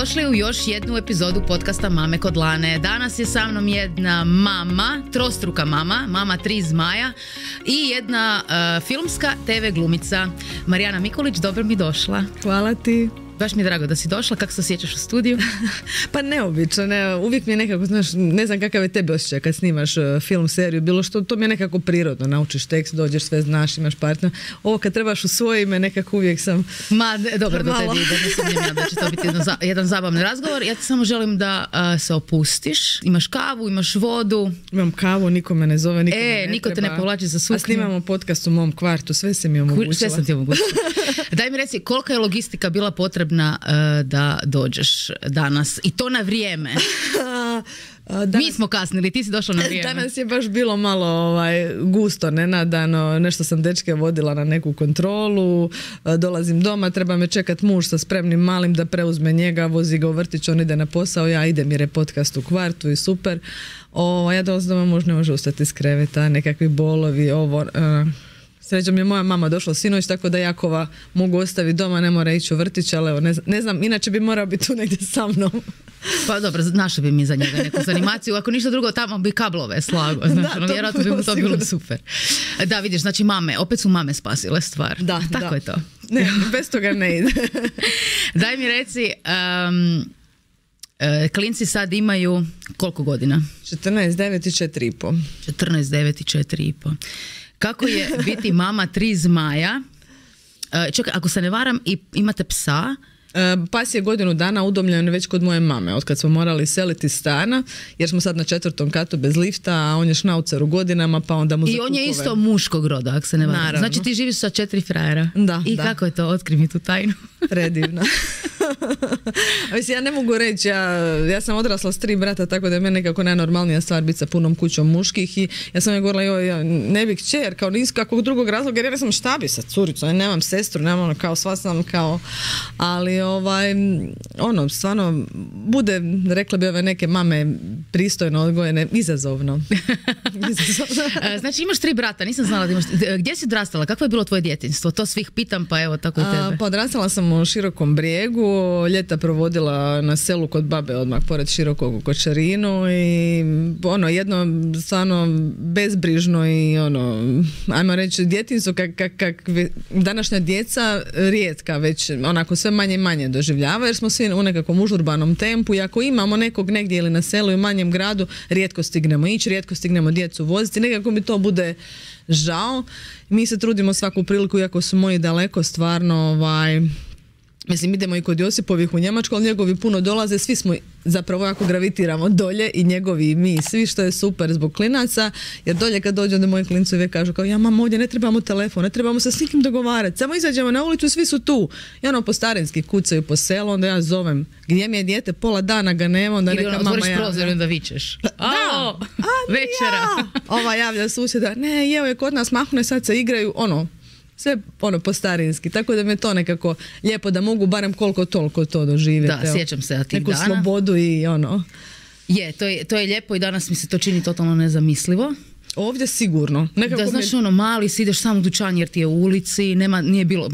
Dobrodošli u još jednu epizodu podcasta Mame kod Lane. Danas je sa mnom jedna mama, trostruka mama, mama 3 zmaja i jedna filmska TV glumica. Marijana Mikulić, dobro mi došla. Hvala ti. Baš mi je drago da si došla. Kako se osjećaš u studiju? Pa neobično, uvijek mi je nekako, znaš, ne znam kakav je tebe osjećaj kad snimaš film, seriju, bilo što, to mi je nekako prirodno, naučiš tekst, dođeš, sve znaš, imaš partner. Ovo kad trebaš u svoje ime, nekako uvijek sam... Dobro, do tebi ide, ne sumnjam ja da će to biti jedan zabavni razgovor. Ja ti samo želim da se opustiš, imaš kavu, imaš vodu. Imam kavu, niko me ne zove, niko te ne povlači za suknju. A snimamo podcast u mom kvartu, sve se mi omogućila. Sve sam ti omogućila. Daj mi reci, kolika je logistika bila potrebna da dođeš danas i to na vrijeme? Mi smo kasnili, ti si došla na vrijeme. Danas je baš bilo malo gusto, nenadano, nešto sam dečke vodila na neku kontrolu, dolazim doma, treba me čekat muž sa spremnim malim da preuzme njega, vozi ga u vrtić, on ide na posao, ja idem jer je podcast u kvartu i super. Ja dolazim doma, muž ne može ustati iz kreveta, nekakvi bolovi, srećom je moja mama došla sinoć, tako da Jakova mogu ostaviti doma, ne mora ići u vrtić, ali evo, ne znam, inače bi morao biti tu negdje sa mnom. Pa dobro, našli bi mi za njega neku zanimaciju, ako ništa drugo, tamo bi kablove slago, znači, vjerojatno bi mu to bilo super. Da, vidiš, znači mame, opet su mame spasile stvar. Da, tako je to. Ne, bez toga ne ide. Daj mi reci, klinci sad imaju koliko godina? 14, 9 i 4,5. 14, 9 i 4,5. Kako je biti mama 3 zmaja? Čekaj, ako se ne varam, imate psa? Pas je godinu dana udomljen već kod moje mame, otkad smo morali seliti iz stana, jer smo sad na 4. katu bez lifta, a on je šnaucer u godinama, pa onda mu za I on kukove. je isto muškog roda, ako se ne varam. Naravno. Znači ti živiš sa 4 frajera. Da, I da. kako je to? Otkri mi tu tajnu. Predivno. Mislim, ja ne mogu reći, ja sam odrasla s 3 brata, tako da je meni nekako najnormalnija stvar biti sa punom kućom muških i ja sam je govorila, ja ne bih kćer, kao niz kakvog drugog razloga, jer ja sam šta bi sa curicom, ja nemam sestru, nemam kao sva sam kao, ali stvarno bude, rekla bi ove neke mame pristojno odgojene, izazovno. Znači imaš 3 brata, nisam znala da imaš. Gdje si odrastala? Kakvo je bilo tvoje djetinjstvo? To svih pitam, pa evo tako i tebe. Pa odrastala sam u Širokom Brijegu, ljeta provodila na selu kod babe odmah pored Širokog u Kočarinu i jedno stvarno bezbrižno i ajmo reći djetinjstvo kak današnja djeca rijetka već onako sve manje i manje doživljava, jer smo svi u nekakvom užurbanom tempu i ako imamo nekog negdje ili na selu i manjem gradu, rijetko stignemo ići, rijetko stignemo djecu voziti, nekako mi to bude žao. Mi se trudimo svaku priliku, iako su moji daleko, stvarno mislim, idemo i kod Josipovih u Njemačku, ali njegovi puno dolaze, svi smo zapravo jako gravitiramo dolje i njegovi i mi, svi, što je super zbog klinaca, jer dolje kad dođu onda moji klinci uvijek kažu kao, ja mama, ovdje ne trebamo telefon, ne trebamo se s nikim dogovarati, samo izađemo na ulicu, svi su tu. I po starinski kucaju po selu, onda ja zovem, gdje mi je dijete, pola dana ga nema, onda neka mama otvoriš prozor i onda vičeš. Da, večera. Javlja susjeda, ne, evo je kod nas mahne, sad se igraju, sve po starinski, tako da me to nekako lijepo da mogu barem koliko toliko to doživjeti. Da, sjećam se tih neku dana. Neku slobodu i Je, to je lijepo i danas mi se to čini totalno nezamislivo. Ovdje sigurno. Nekako da, znaš, mali si, ideš sam u dućan jer ti je u ulici, nije bilo,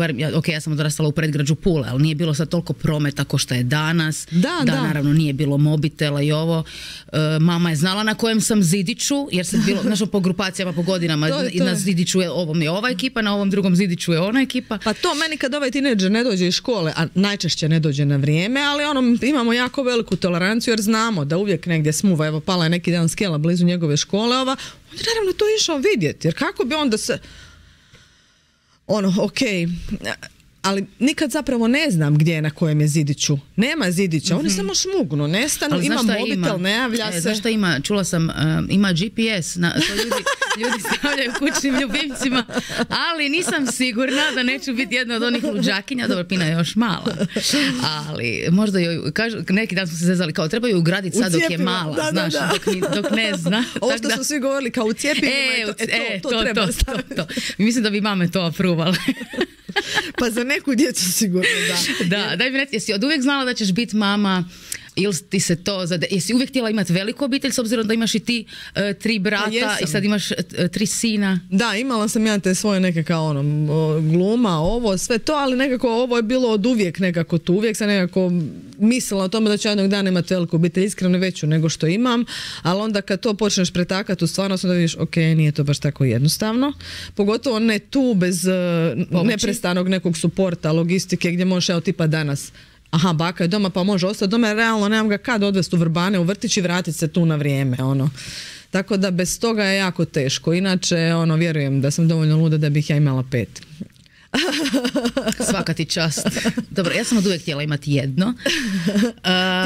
ja sam odrastala u predgrađu Pule, ali nije bilo sad toliko prometa ko što je danas. Da, naravno, nije bilo mobitela i ovo. Mama je znala na kojem sam zidiću, jer sam bilo, znaš, po grupacijama, po godinama, na zidiću je ovom je ova ekipa, na ovom drugom zidiću je ona ekipa. Pa to meni kad ovaj tinejdžer ne dođe iz škole, a najčešće ne dođe na vrijeme, ali imamo jako veliku toleranciju jer znamo da uvijek negdje smuva, evo pala je neki dan skela blizu njegove škole, on naravno to išao vidjeti, jer kako bi onda se ali nikad zapravo ne znam gdje je na kojem je zidiću. Nema zidića, oni samo šmugnu, nestanu, ima mobitel, ne javlja se. Znaš šta ima? Čula sam, ima GPS, to ljudi stavljaju kućnim ljubimcima, ali nisam sigurna da neću biti jedna od onih luđakinja, dobro, Pina je još mala, ali možda joj, neki dan smo se zezali, kao trebaju ugraditi sad dok je mala, znaš, dok ne zna. Ovo što su svi govorili, kao u cijepivima, to treba staviti. Mislim da bi mame to apruvale. Pa za neku djecu sigurno, da. Da, daj mi reći, jesi od uvijek znala da ćeš biti mama ili ti se to jesi uvijek htjela imati veliku obitelj s obzirom da imaš i ti 3 brata i sad imaš 3 sina? Da, imala sam ja te svoje neke kao gluma, ovo, sve to, ali nekako ovo je bilo od uvijek nekako tu. Uvijek sam nekako mislila o tome da ću jednog dana imati veliku obitelj, iskreno veću nego što imam, ali onda kad to počneš pretakati u stvarnost, onda vidiš, ok, nije to baš tako jednostavno. Pogotovo ne tu bez neprestanog nekog suporta, logistike, gdje možeš, evo tipa danas, aha, baka je doma pa može ostati doma, jer realno nemam ga kad odvesti u Vrbane, u vrtić i vratiti se tu na vrijeme, Tako da bez toga je jako teško. Inače, vjerujem da sam dovoljno luda da bih ja imala 5. Svaka ti čast. Dobro, ja sam od uvijek htjela imati jedno.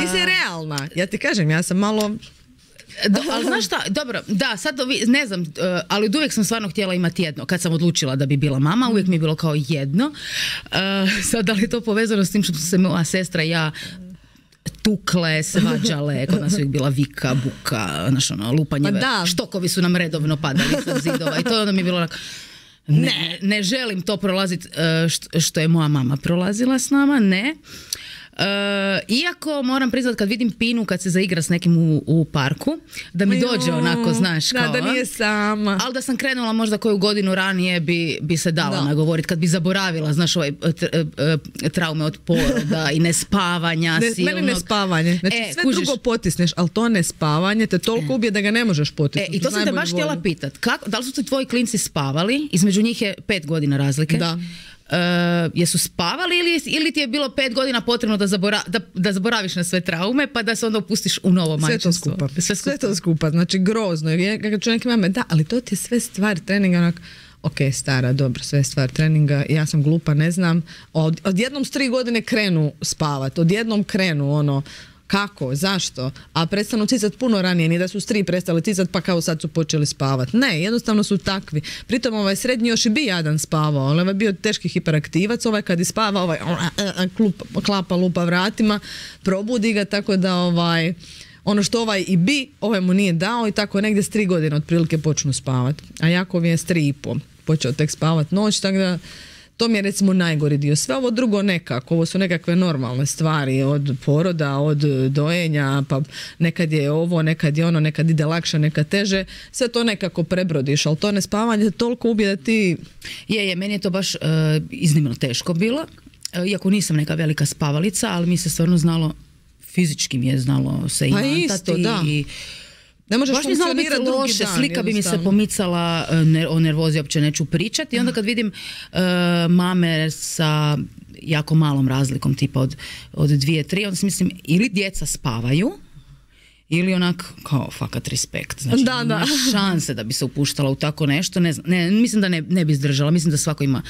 Ti si realna. Ja ti kažem, ja sam malo... ali znaš šta, dobro, da, sad ne znam, ali od uvijek sam stvarno htjela imati jedno. Kad sam odlučila da bi bila mama, uvijek mi je bilo kao jedno. Sad, da li je to povezano s tim što se moja sestra i ja tukle, svađale, kod nas uvijek bila vika, buka, lupanje, štokovi su nam redovno padali sa zidova i to onda mi je bilo onako, ne želim to prolaziti što je moja mama prolazila s nama, ne. Iako moram priznat kad vidim Pinu kad se zaigra s nekim u parku, da mi dođe onako, znaš, kao... Da nije sama. Ali da sam krenula možda koju godinu ranije bi se dala nagovoriti, kad bi zaboravila, znaš, traume od poroda i nespavanja silnog. Meni nespavanje. Znači sve drugo potisneš, ali to nespavanje te toliko ubije da ga ne možeš potisnuti. I to sam te baš htjela pitat. Da li su tvoji klinci spavali? Između njih je 5 godina razlike. Da. Jesu spavali ili ti je bilo 5 godina potrebno da zaboraviš na sve traume pa da se onda upustiš u novo majčinstvo? Sve to skupa, znači grozno. Kad čovjek ima, da, ali to ti je sve stvar treninga, ok, stara, dobro, sve stvar treninga, ja sam glupa, ne znam. Odjednom s 3 godine krenu spavat, odjednom krenu kako, zašto? A prestanu cicat puno ranije, nije da su s 3 prestali cicat pa kao sad su počeli spavat. Ne, jednostavno su takvi. Pritom srednji još i bi jadan spavao, ovaj je bio teški hiperaktivac, kad ispava, klapa lupa vratima, probudi ga, tako da ono što i bi, mu nije dao i tako negdje s 3 godine otprilike počnu spavat. A Jakov je s 3,5 počeo tek spavat noć, tako da to mi je recimo najgori dio. Sve ovo drugo nekako, ovo su nekakve normalne stvari od poroda, od dojenja, pa nekad je ovo, nekad je ono, nekad ide lakše, nekad teže, sve to nekako prebrodiš, ali to nespavanje toliko ubije da ti... Meni je to baš iznimno teško bilo, iako nisam neka velika spavalica, ali mi se stvarno znalo, fizički mi je znalo se imantati. Pa isto, da. Ne možeš funkcionirati drugi dan. Slika bi mi se pomicala, o nervozi uopće neću pričati. I onda kad vidim mame sa jako malom razlikom, tipa od 2-3, onda si mislim, ili djeca spavaju, ili onak, kao, fakat respekt. Znači, nema šanse da bi se upuštala u tako nešto. Mislim da ne bi izdržala. Mislim da svako ima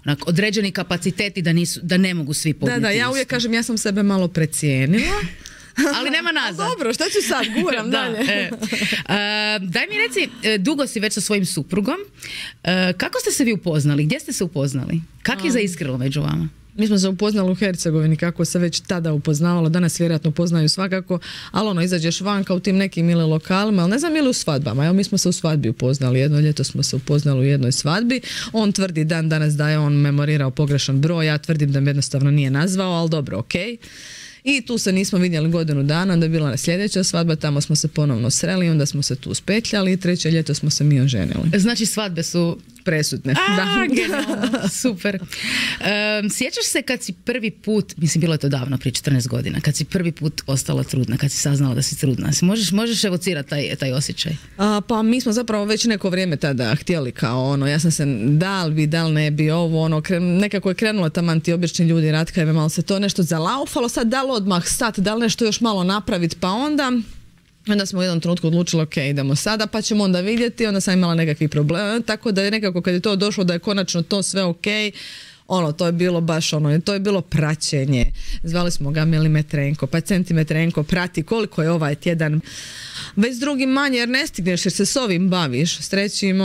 onak određeni kapaciteti da ne mogu svi podnijeti. Da, ja uvijek kažem, ja sam sebe malo precijenila. Ali nema nazad. Dobro, šta ću sad? Guram dalje. Daj mi reci, dugo si već sa svojim suprugom. Kako ste se vi upoznali? Gdje ste se upoznali? Kako je zaiskrilo među vama? Mi smo se upoznali u Hercegovini, kako se već tada upoznavalo, danas vjerojatno poznaju svakako, ali izađeš vanka u tim nekim ili lokalima, ali ne znam ili u svadbama. Evo, mi smo se u svadbi upoznali, jedno ljeto smo se upoznali u jednoj svadbi. On tvrdi dan danas da je on memorirao pogrešan broj, ja tvrdim da me jednostavno nije nazvao, ali dobro, okej. I tu se nismo vidjeli godinu dana, onda je bila sljedeća svadba, tamo smo se ponovno sreli, onda smo se tu spetljali i 3. ljeto smo se mi oženili. Znači svadbe su presudne. Genialno, super. Sjećaš se kad si prvi put, mislim bilo je to davno, prije 14 godina, kad si prvi put ostala trudna, kad si saznala da si trudna, možeš evocirati taj osjećaj? Pa mi smo zapravo već neko vrijeme tada htjeli kao ja sam se da li ne bi ovo, nekako je krenulo taman ti obični ljudi ratkajve, malo se to nešto zalaufalo, sad da li odmah stati, da li nešto još malo napraviti, pa onda smo u jednom trenutku odlučili, ok, idemo sada, pa ćemo onda vidjeti, onda sam imala nekakvih problema, tako da je nekako kad je to došlo da je konačno to sve ok, to je bilo baš to je bilo praćenje. Zvali smo ga milimetrenko, pa centimetrenko, prati koliko je ovaj tjedan, već s drugim manje, jer ne stigneš, jer se s ovim baviš, s trećim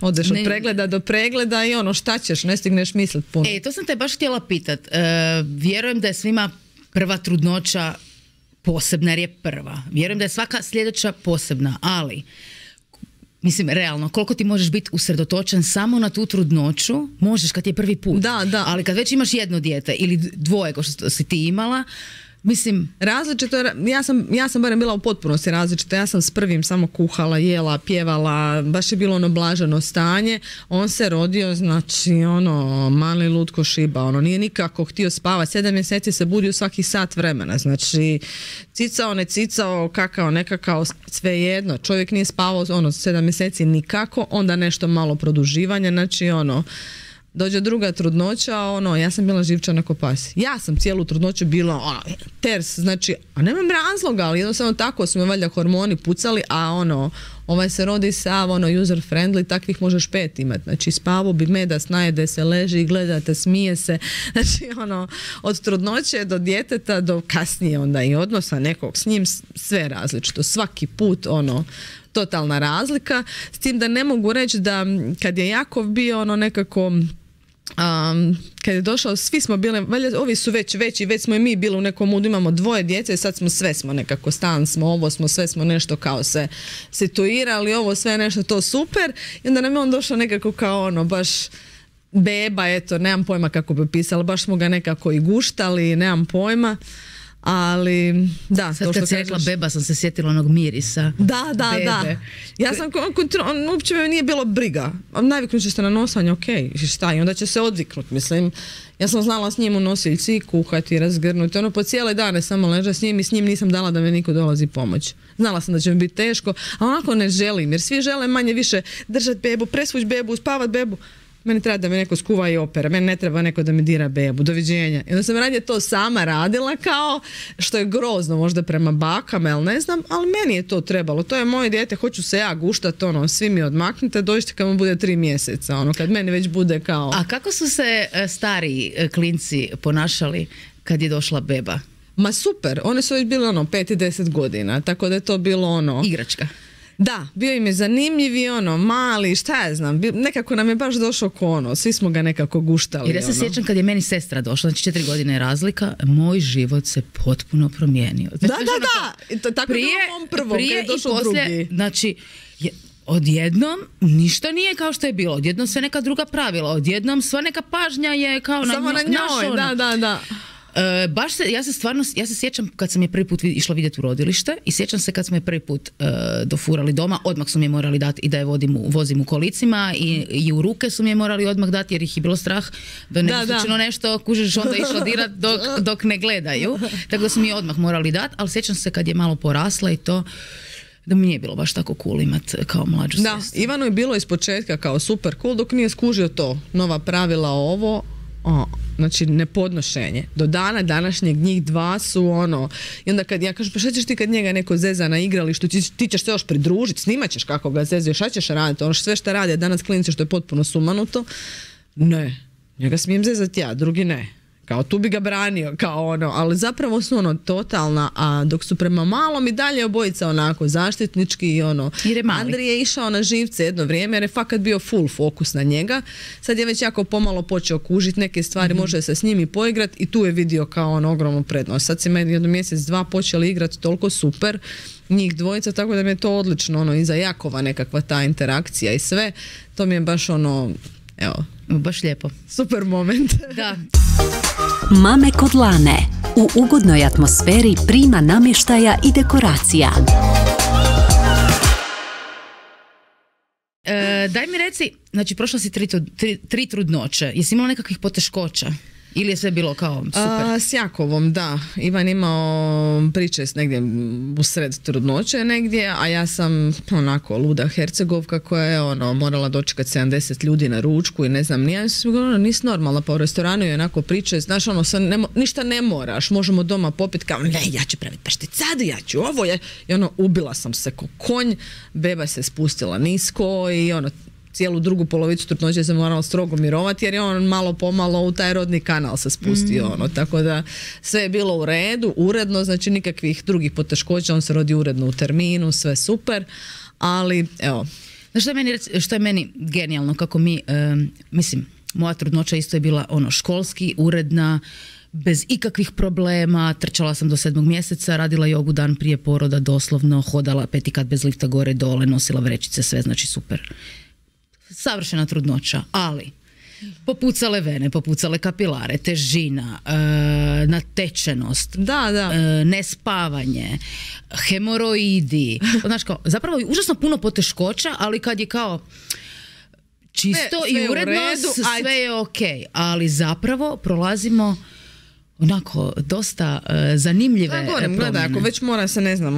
odeš od pregleda do pregleda i šta ćeš, ne stigneš misliti puno. To sam te baš htjela pitat. Vjerujem da je svima prva trudnoća posebna jer je prva. Vjerujem da je svaka sljedeća posebna, ali mislim, realno, koliko ti možeš biti usredotočen samo na tu trudnoću, možeš kad je prvi put. Da. Ali kad već imaš jedno dijete ili 2 ko što si ti imala, Mislim, različito, ja sam barem bila u potpunosti različita. Ja sam s prvim samo kuhala, jela, pjevala, baš je bilo ono blaženo stanje. On se rodio, znači ono, mali lutko šiba, ono, nije nikako htio spavati. 7 mjeseci se budio svaki sat vremena, znači cicao, ne cicao, kakao, nekakao, svejedno. Čovjek nije spavao ono 7 mjeseci nikako, onda nešto malo produživanja, znači ono, dođe druga trudnoća, ono, ja sam bila živčana ko pas. Ja sam cijelu trudnoću bila ono, ters, znači, a nemam razloga, ali jednostavno tako su me valjda hormoni pucali, a ono, ovaj se rodi sav, ono, user friendly, takvih možeš 5 imati. Znači, spavo bi medas, najede se, leži i gledate, smije se. Znači, ono, od trudnoće do djeteta do kasnije onda i odnosa nekog s njim, sve različito. Svaki put, ono, totalna razlika. S tim da ne mogu reći da kad je Jakov bio ono nekako kad je došao, svi smo bili, valjda ovi su veći, već smo i mi bili u nekom mudu, imamo 2 djece i sad smo sve smo nekako, stan smo, ovo smo, sve smo nešto kao se situirali, ovo sve nešto to super i onda nam je on došao nekako kao ono baš beba, eto, nemam pojma kako bi pisala, baš smo ga nekako i guštali, nemam pojma. Ali, da. Sad kad si rekla beba sam se sjetila onog mirisa. Da. Ja sam, uopće me nije bilo briga. Naviknut će se na nosanje, ok, šta, i onda će se odviknut, mislim. Ja sam znala s njim u nosiljci kuhati, razgrnuti, ono po cijele dane samo leža s njim i s njim nisam dala da me niko dolazi pomoć. Znala sam da će mi biti teško, a onako ne želim, jer svi žele manje više držati bebu, presvući bebu, spavat bebu. Meni treba da me neko skuva i opera, meni ne treba neko da mi dira bebu, doviđenja. I onda sam radije to sama radila kao, što je grozno možda prema bakama, jel ne znam, ali meni je to trebalo. To je moje dijete, hoću se ja guštat, ono, svi mi odmaknite, dođite kad mu bude 3 mjeseca, ono, kad meni već bude kao... A kako su se stariji klinci ponašali kad je došla beba? Ma super, one su već bile ono 5 i 10 godina, tako da je to bilo ono... Igračka. Da, bio im je zanimljiv i ono, mali, šta ja znam, nekako nam je baš došao ko ono, svi smo ga nekako guštali. Jer ja se sjećam kad je meni sestra došla, znači 4 godine je razlika, moj život se potpuno promijenio. Znači, da. Tako je bilo mom prvom, kad je došao drugi. Znači, odjednom ništa nije kao što je bilo, odjednom sve neka druga pravila, odjednom sva neka pažnja je kao samo na njoj, da. Ja se sjećam kad sam je prvi put išla vidjeti u rodilište i sjećam se kad smo je prvi put dofurali doma, odmah su mi je morali dati i da je vozim u kolicima i u ruke su mi je morali odmah dati jer ih je bilo strah da ne bi slučajno nešto kužiš onda išla dirat dok ne gledaju, tako da su mi je odmah morali dati, ali sjećam se kad je malo porasla i to da mi nije bilo baš tako cool imat kao mlađu sestru. Da, Ivanu je bilo iz početka kao super cool dok nije skužio to, nova pravila ovo, znači nepodnošenje. Do dana današnjeg njih 2 su ono, i onda kad ja kažem pa šta ćeš ti kad njega neko zeza na igralištu, ti ćeš se još pridružiti, snimat ćeš kako ga zezio, šta ćeš raditi, ono sve što rade danas klinice što je potpuno sumanuto, ne, njega smijem zezati ja, drugi ne. Kao tu bi ga branio, kao ono, ali zapravo su ono totalna, a dok su prema malom i dalje obojica onako zaštitnički i ono. Andrij je išao na živce jedno vrijeme jer je fakat bio full fokus na njega. Sad je već jako pomalo počeo kužiti neke stvari, može se s njim i poigrati i tu je vidio kao ono ogromnu prednost. Sad se meni jedno mjesec, 2 počeli igrati toliko super, njih dvojica, tako da mi je to odlično, ono, i za Jakova nekakva ta interakcija i sve. To mi je baš ono, evo. Baš lijepo. Super moment. Da. Mame kod Lane. U ugodnoj atmosferi prima namještaja i dekoracija. Daj mi reci, znači prošla si 3 trudnoće. Jesi imala nekakvih poteškoća? Ili je sve bilo kao super? S Jakovom, da. Ivan imao pričest negdje u sred trudnoće negdje, a ja sam onako luda Hercegovka koja je ono morala dočekati 70 ljudi na ručku i ne znam, nisi normalna, pa u restoranu je onako pričest, znaš ono, ništa ne moraš, možemo doma popiti kao, ne, ja ću praviti pašticadu, ja ću ovo, i ono, ubila sam se ko konj, beba se spustila nisko i ono, cijelu drugu polovicu trudnoće se morala strogo mirovati jer je on malo pomalo u taj rodni kanal se spustio, ono, tako da sve je bilo u redu, uredno, znači nikakvih drugih poteškoća, on se rodi uredno u terminu, sve super, ali evo. Znaš što je meni genijalno, kako mi, mislim, moja trudnoća isto je bila ono školski, uredna, bez ikakvih problema, trčala sam do 7. mjeseca, radila jogu dan prije poroda, doslovno, hodala 5 kat bez lifta gore dole, nosila vrećice, sve, znači super. Savršena trudnoća, ali Popucale vene, popucale kapilare, težina, natečenost, nespavanje, hemoroidi. Znaš kao, zapravo je užasno puno poteškoća, ali kad je kao čisto i uredno, sve je ok. Ali zapravo prolazimo onako dosta zanimljive promjene. Gledaj, ako već mora se, ne znam,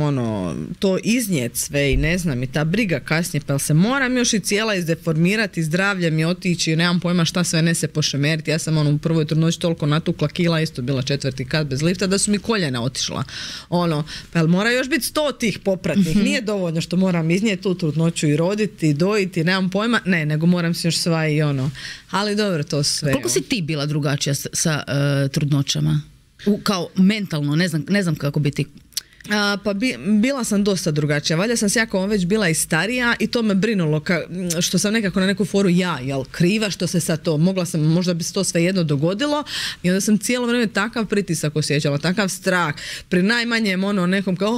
to iznijet sve i ne znam, i ta briga kasnije, pa se moram još i cijela izdeformirati, zdravlje mi otići, nemam pojma šta sve ne se pošemeriti. Ja sam u prvoj trudnoći toliko natukla kila, isto bila 4. kat bez lifta, da su mi koljena otišla. Pa jel mora još biti 100 tih popratnih? Nije dovoljno što moram iznijeti tu trudnoću i roditi, dojiti, nemam pojma, ne, nego moram se još sva i ali dobro, to sve. Koliko si ti bila drugačija sa trudnoćama? Kao mentalno, ne znam kako biti. Pa bila sam dosta drugačija. Valjda sam jako već bila i starija i to me brinulo što sam nekako na neku foru jel kriva što se sad to, mogla sam, možda bi se to svejedno dogodilo i onda sam cijelo vrijeme takav pritisak osjećala, takav strah. Pri najmanjem nekom kao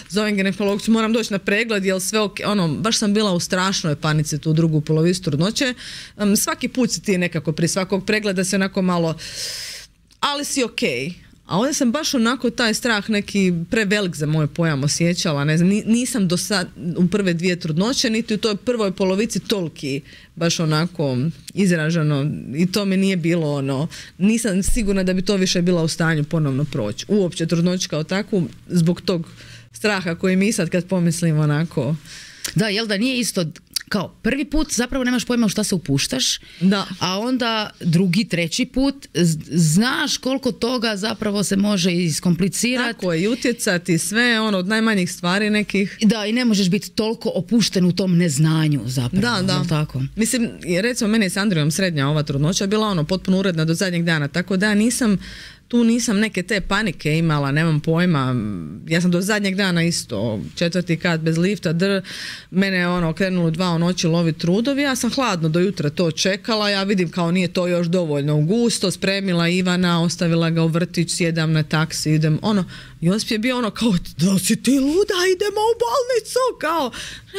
zovem ginekologcu, moram doći na pregled, jel sve ok, baš sam bila u strašnoj panici tu drugu polovicu trudnoće. Svaki put si ti nekako pri svakog pregleda se onako malo, ali si ok. A ovdje sam baš onako taj strah neki prevelik za moj pojam osjećala, ne znam, nisam do sad u prve 2 trudnoće, niti u toj prvoj polovici toliki baš onako izraženo i to mi nije bilo nisam sigurna da bi to više bila u stanju ponovno proći. Uopće trudnoću kao takvu, zbog tog straha koji mi sad kad pomislim onako. Da, jel da nije isto kao prvi put zapravo nemaš pojma u šta se upuštaš, a onda drugi, treći put znaš koliko toga zapravo se može iskomplicirati. Tako je, i utjecati sve od najmanjih stvari nekih. Da, i ne možeš biti toliko opušten u tom neznanju zapravo. Da. Tako? Mislim, recimo meni je s Andrijom srednja ova trudnoća bila potpuno uredna do zadnjeg dana, tako da tu nisam neke te panike imala, nemam pojma. Ja sam do zadnjeg dana isto, 4. kat bez lifta, mene je krenulo 2 u noći loviti trudovi, ja sam hladno do jutra to čekala, ja vidim kao nije to još dovoljno gusto, spremila Ivana, ostavila ga u vrtić, sjedam na taksi, idem, Josip je bio kao, da si ti luda, idemo u bolnicu, kao,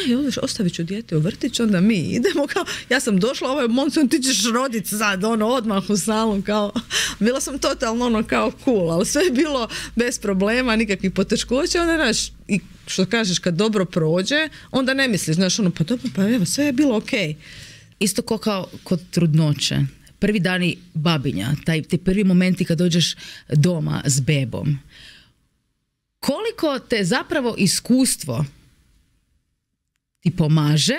ne, ostavit ću dijete u vrtić, onda mi idemo, kao, ja sam došla, Monson, ti ćeš roditi sad, odmah u salon, kao, bila sam totalno kao cool, ali sve je bilo bez problema, nikakvih poteškoća, onda znaš, i što kažeš, kad dobro prođe, onda ne misliš, znaš, pa dobro, pa evo, sve je bilo okej. Isto kao kod trudnoće. Prvi dani babinja, ti prvi momenti kad dođeš doma s bebom. Koliko te zapravo iskustvo ti pomaže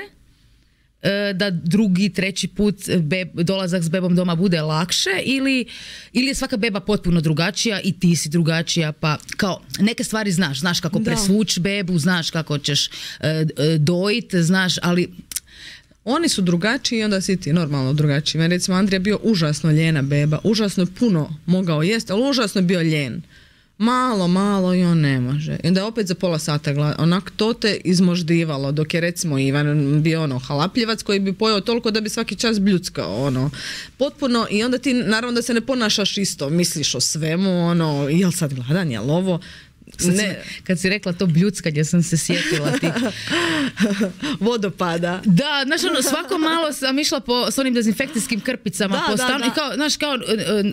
da drugi, treći put dolazak s bebom doma bude lakše ili je svaka beba potpuno drugačija i ti si drugačija, pa kao neke stvari znaš kako presvući bebu, znaš kako ćeš dojiti, znaš, ali oni su drugačiji i onda si ti normalno drugačiji. Meni recimo Andrija bio užasno ljena beba, užasno je puno mogao jesti, ali užasno je bio ljen. Malo i on ne može. I onda je opet za pola sata onak to te izmoždivalo, dok je recimo Ivan bio halapljivac koji bi pojeo toliko da bi svaki čas bljuckao potpuno, i onda ti naravno da se ne ponašaš isto, misliš o svemu, jel sad gladan, jel ovo. Kad si rekla to bljuckanje sam se sjetila ti vodopada. Da, znaš svako malo sam išla s onim dezinfekcijskim krpicama po stanu i kao, znaš, kao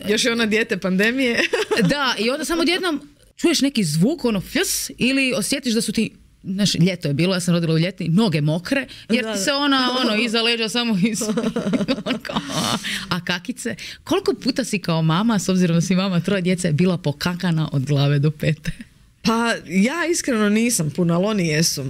još je dijete pandemije. Da, i onda samo odjednom čuješ neki zvuk, fljus, ili osjetiš da su ti, znaš, ljeto je bilo, ja sam rodila u ljeti, noge mokre, jer ti se iza leđa samo a kakice. Koliko puta si kao mama, s obzirom da si mama 3 djece, bila pokakana od glave do pete? Pa ja iskreno nisam puno, ali oni jesu.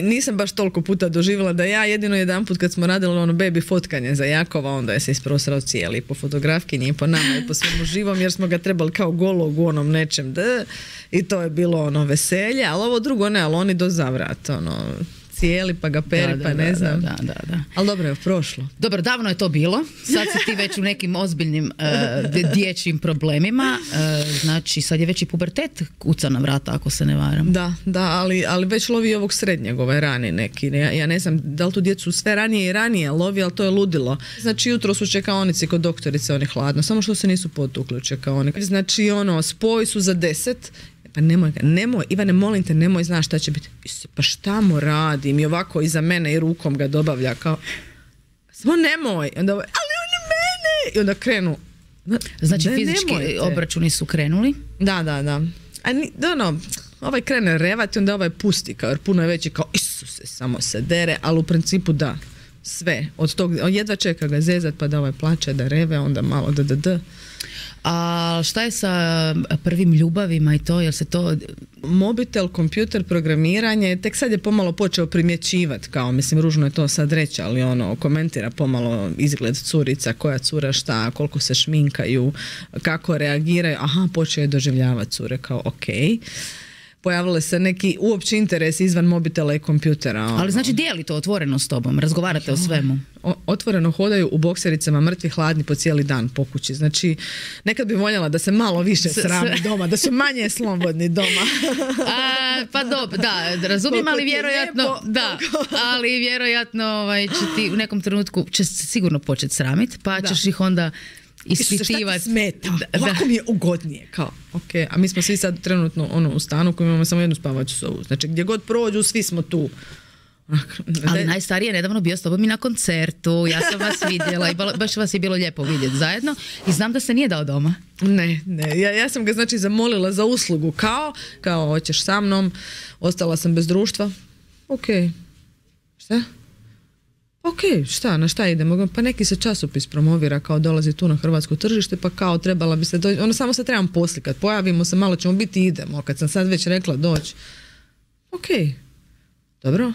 Nisam baš toliko puta doživjela da ja jedino jedanput kad smo radili baby fotkanje za Jakova, onda je se isprosrao cijeli po fotografkinji i po nama i po svemu živom, jer smo ga trebali kao golog u nečem i to je bilo veselje, ali ovo drugo ne, ali oni do zavrat cijeli pa ga peri, pa ne znam. Da. Ali dobro je prošlo. Dobro, davno je to bilo. Sad si ti već u nekim ozbiljnim dječjim problemima. Znači, sad je već i pubertet kuca na vrata, ako se ne varam. Da, ali već lovi ovog srednjeg, rani neki. Ja ne znam da li tu djecu sve ranije i ranije lovi, ali to je ludilo. Znači, jutro su čekaonici kod doktorice, oni hladno, samo što se nisu potukli u čekaonici. Znači, spoj su za 10. Pa nemoj, Ivane, molim te, nemoj, znaš šta će biti. Pa šta mu radim? I ovako iza mene i rukom ga dobavlja kao... samo nemoj. I onda ali on mene! I onda krenu. Znači fizički obračuni su krenuli? Da. Ovaj krene revati, onda ovaj pusti, jer puno je veći, kao Isuse, samo se dere, ali u principu da, sve. Od tog, jedva čeka ga zezat, pa da ovaj plače, da reve, onda malo da. A šta je sa prvim ljubavima i to, jel se to... Mobitel, kompjuter, programiranje, tek sad je pomalo počeo primjećivati, kao, mislim, ružno je to sad reći, ali komentira pomalo izgled curica, koja cura šta, koliko se šminkaju, kako reagiraju, počeo je doživljavati cure, kao okej. Pojavile se neki uopće interes izvan mobitela i kompjutera. Ali znači dijeli to otvoreno s tobom, razgovarate o svemu? Otvoreno hodaju u boksericama, mrtvi hladni po cijeli dan po kući. Znači, nekad bi voljela da se malo više srame doma, da su manje slobodni doma. Pa dobro, da, razumijem, ali vjerojatno, ali vjerojatno će ti u nekom trenutku će se sigurno početi sramiti, pa ćeš ih onda ispitivati. Šta ti smeta? Ovako mi je ugodnije. Kao, okay. A mi smo svi sad trenutno u stanu koji imamo samo jednu spavaću sobu. Znači gdje god prođu, svi smo tu. Ali najstariji je nedavno bio s tobom i na koncertu. Ja sam vas vidjela i baš vas je bilo lijepo vidjeti zajedno. I znam da se nije dao doma. Ne. Ja sam ga znači zamolila za uslugu. Kao hoćeš sa mnom. Ostala sam bez društva. Šta? Šta, na šta idemo? Pa neki se časopis promovira, kao dolazi tu na hrvatsko tržište, pa kao trebala bi se doći, samo se trebam poslikat, pojavimo se, malo ćemo biti i idemo, kad sam sad već rekla doći. Dobro,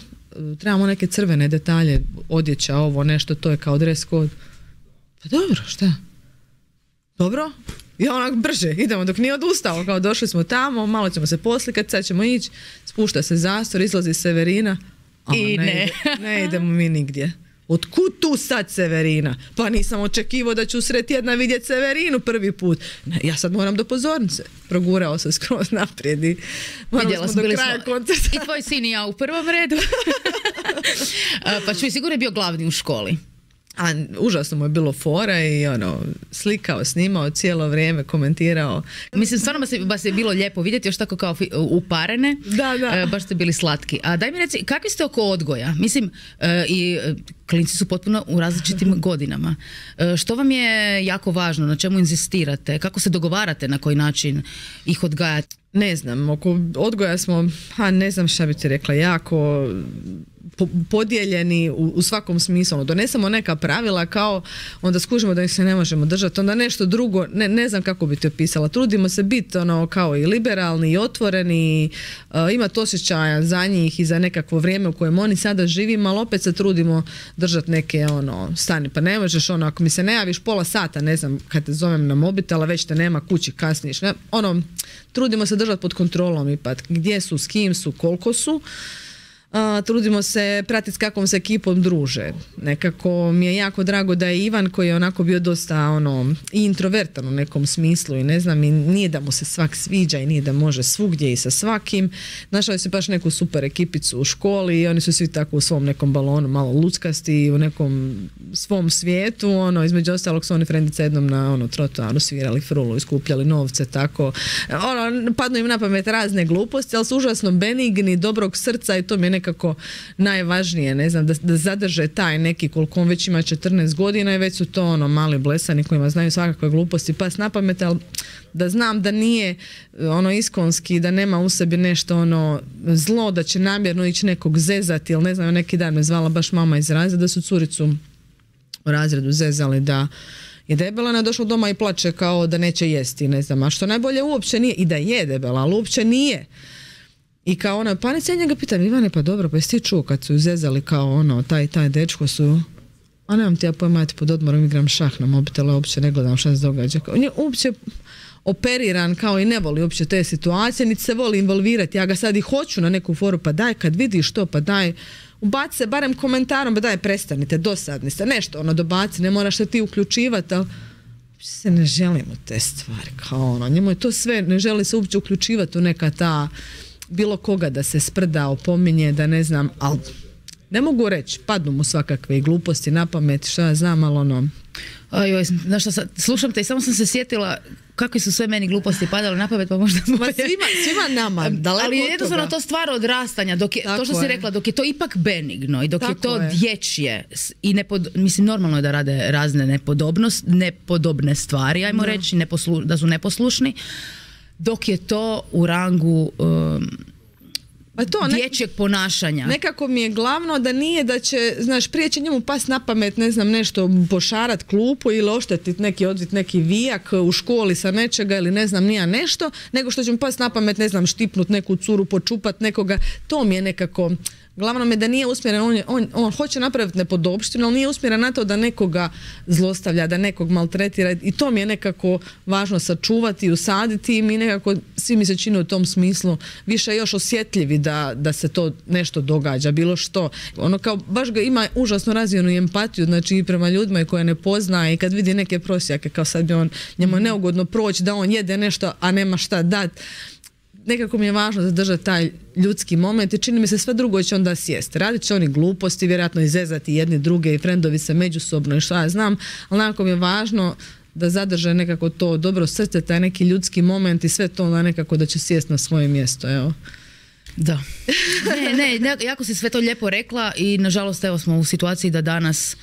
trebamo neke crvene detalje, odjeća, ovo, nešto, to je kao dress code. Pa dobro, šta? Dobro, i onak brže, idemo dok nije odustao, kao došli smo tamo, malo ćemo se poslikat, sad ćemo ići, spušta se zastor, izlazi Severina. I ne idemo mi nigdje. Otkud tu sad Severina? Pa nisam očekivao da ću sred tjedna vidjeti Severinu prvi put. Ne, ja sad moram do pozornice. Progurao se skroz naprijed i morali smo do kraja koncerta. I tvoj sin i ja u prvom redu. Pa čuj, sigurno je bio glavni u školi. A užasno mu je bilo fora i slikao, snimao cijelo vrijeme, komentirao. Mislim, stvarno baš je bilo lijepo vidjeti, još tako kao uparene. Da. Baš ste bili slatki. A daj mi reci, kakvi ste oko odgoja? Mislim, i klinci su potpuno u različitim godinama. Što vam je jako važno? Na čemu inzistirate? Kako se dogovarate na koji način ih odgajati? Ne znam, oko odgoja smo, ne znam šta bi ti rekla, jako podijeljeni u svakom smislu. Donesemo neka pravila, kao onda skužimo da ih se ne možemo držati, onda nešto drugo, ne znam kako bi ti opisala. Trudimo se biti kao i liberalni i otvoreni, imati osjećaja za njih i za nekakvo vrijeme u kojem oni sada živimo, ali opet se trudimo držati neke stani. Pa ne možeš ako mi se ne javiš pola sata, ne znam, kad te zovem na mobitel, a već te nema kući, kasniš. Trudimo se držati pod kontrolom ipak. Gdje su, s kim su, koliko su. Trudimo se pratiti s kakvom se ekipom druže. Nekako mi je jako drago da je Ivan, koji je onako bio dosta i introvertan u nekom smislu i ne znam, i nije da mu se svak sviđa i nije da može svugdje i sa svakim. Našao je se baš neku super ekipicu u školi i oni su svi tako u svom nekom balonu, malo luckasti, u nekom svom svijetu. Između ostalog su oni frendice jednom na trotoaru svirali frulu i skupljali novce, tako. Padnu im na pamet razne gluposti, ali su užasno benigni, dobrog srca i to mi je nekako najvažnije, ne znam, da zadrže taj neki, koliko on već ima 14 godina i već su to mali blesani kojima znaju svakakve gluposti pas na pamet, ali da znam da nije iskonski, da nema u sebi nešto zlo, da će namjerno ići nekog zezati, ili ne znam, neki dan me zvala baš mama iz razreda, da su curicu u razredu zezali da je debela, ona je došla doma i plače kao da neće jesti, ne znam, a što najbolje uopće nije, i da je debela, ali uopće nije. I kao panica, ja njega pitam, Ivane, pa dobro, pa jesi ti čuo kad su ju zezali kao taj dečko su, a nemam ti ja pojma, ja ti pod odmorom igram šah na mobitelu, uopće ne gledam šta se događa. On je uopće operiran kao i ne voli uopće te situacije, niti se voli involvirati. Ja ga sad i hoću na neku foru, pa daj, kad vidiš to, pa daj, ubaci se barem komentarom, pa daj, prestanite, dosadni ste, nešto dobaci, ne moraš se ti uključivati, ali se ne želimo te stvari, kao njemu je to sve, ne želi se uopće uključivati u neka ta bilo koga da se sprda, opominje, da ne znam, ali ne mogu reći, padnu mu svakakve gluposti na pamet, šta ja znam, ali ono... Ajoj, znaš šta, slušam te i samo sam se sjetila kakve su sve meni gluposti padale na pamet, pa možda moje... Svima nama, daleko ali od jednostavno toga. To stvar odrastanja, dok je, to što si rekla, dok je to ipak benigno i dok je to dječje i mislim normalno je da rade razne nepodobne stvari, ajmo reći, da su neposlušni, dok je to u rangu dječjeg ponašanja. Nekako mi je glavno da nije da će, znaš, prije će njemu pas na pamet, ne znam, nešto pošarat klupu ili oštetiti neki vijak u školi sa nečega ili ne znam nija nešto, nego što će mu pas na pamet, ne znam, štipnut neku curu, počupat nekoga. To mi je nekako... Glavno mi je da nije usmjeren, on hoće napraviti nepodopštinu, ali nije usmjeren na to da nekoga zlostavlja, da nekog maltretira i to mi je nekako važno sačuvati i usaditi i mi nekako, svi mi se čine u tom smislu više još osjetljivi da se to nešto događa, bilo što. Ono kao baš ga ima užasno razvijenu empatiju, znači i prema ljudima koje ne pozna i kad vidi neke prosjake kao sad bi njemu je neugodno proći da on jede nešto, a nema šta dati. Nekako mi je važno zadržati taj ljudski moment i čini mi se sve drugo će onda sjesti. Radit će oni gluposti, vjerojatno izezati jedni druge i frendovi se međusobno i šta ja znam, ali nekako mi je važno da zadrže nekako to dobro srce, taj neki ljudski moment i sve to onda nekako da će sjesti na svoje mjesto, evo. Da. Ne, jako si sve to lijepo rekla i nažalost evo smo u situaciji da danas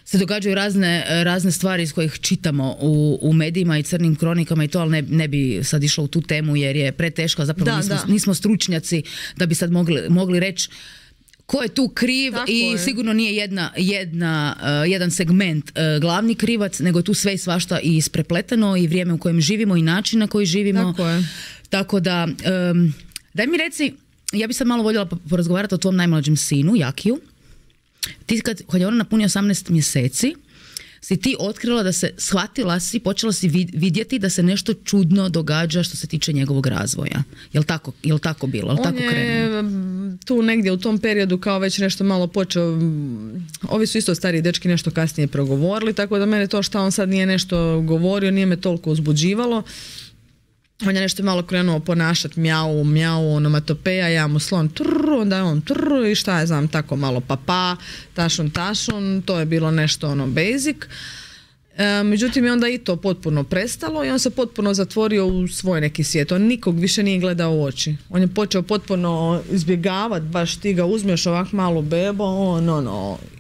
se događaju razne stvari iz kojih čitamo u medijima i crnim kronikama i to, ali ne bi sad išla u tu temu jer je preteška, zapravo nismo stručnjaci da bi sad mogli reći ko je tu kriv. Tako i je. Sigurno nije jedan segment glavni krivac, nego je tu sve i svašta i isprepleteno i vrijeme u kojem živimo i način na koji živimo. Tako da, daj mi reci, ja bi sad malo voljela porazgovarati o tvom najmlađem sinu, Jakiju. Ti kad je ona napunio 18 mjeseci, si ti otkrila da se, počela si vidjeti da se nešto čudno događa što se tiče njegovog razvoja. Jel tako bilo? Jel tako krenuo? On je tu negdje u tom periodu kao već nešto malo počeo, ovi su isto stariji dečki nešto kasnije progovorili, tako da mene to što on sad nije nešto govorio, nije me toliko uzbuđivalo. On je nešto malo krenuo ponašati mjau, onomatopeja, ja mu slon onda je on i šta je znam, tako malo papa, tašun, to je bilo nešto basic. Međutim je onda i to potpuno prestalo i on se potpuno zatvorio u svoj neki svijet. On nikog više nije gledao u oči. On je počeo potpuno izbjegavati, baš ti ga uzmeš ovak malu bebo,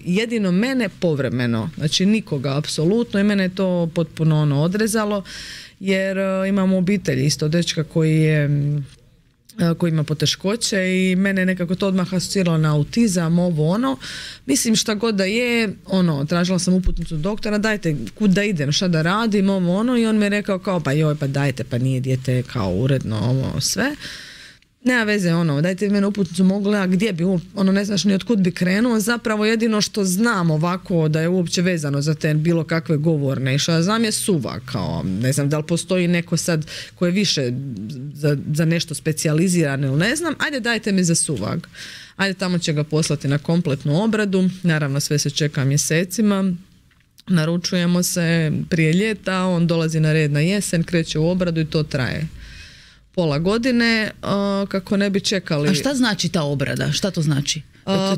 jedino mene povremeno, znači nikoga apsolutno i mene je to potpuno odrezalo. Jer imamo obitelj isto dečka koji ima poteškoće i mene nekako to odmah asociralo na autizam, mislim šta god da je, tražila sam uputnicu doktora, dajte kud da idem, šta da radim, i on mi je rekao kao pa dajte, pa nije dijete kao uredno, sve. Nema veze, dajte mene uputnicu, mogu gledati gdje bi, ne znaš ni otkud bi krenuo, zapravo jedino što znam ovako da je uopće vezano za te bilo kakve govorne i što znam je suva, kao, ne znam da li postoji neko sad ko je više za nešto specijaliziran ili ne znam, ajde dajte mi za suvag, ajde tamo će ga poslati na kompletnu obradu, naravno sve se čeka mjesecima, naručujemo se prije ljeta, on dolazi na red na jesen, kreće u obradu i to traje pola godine, kako ne bi čekali. A šta znači ta obrada? Šta to znači?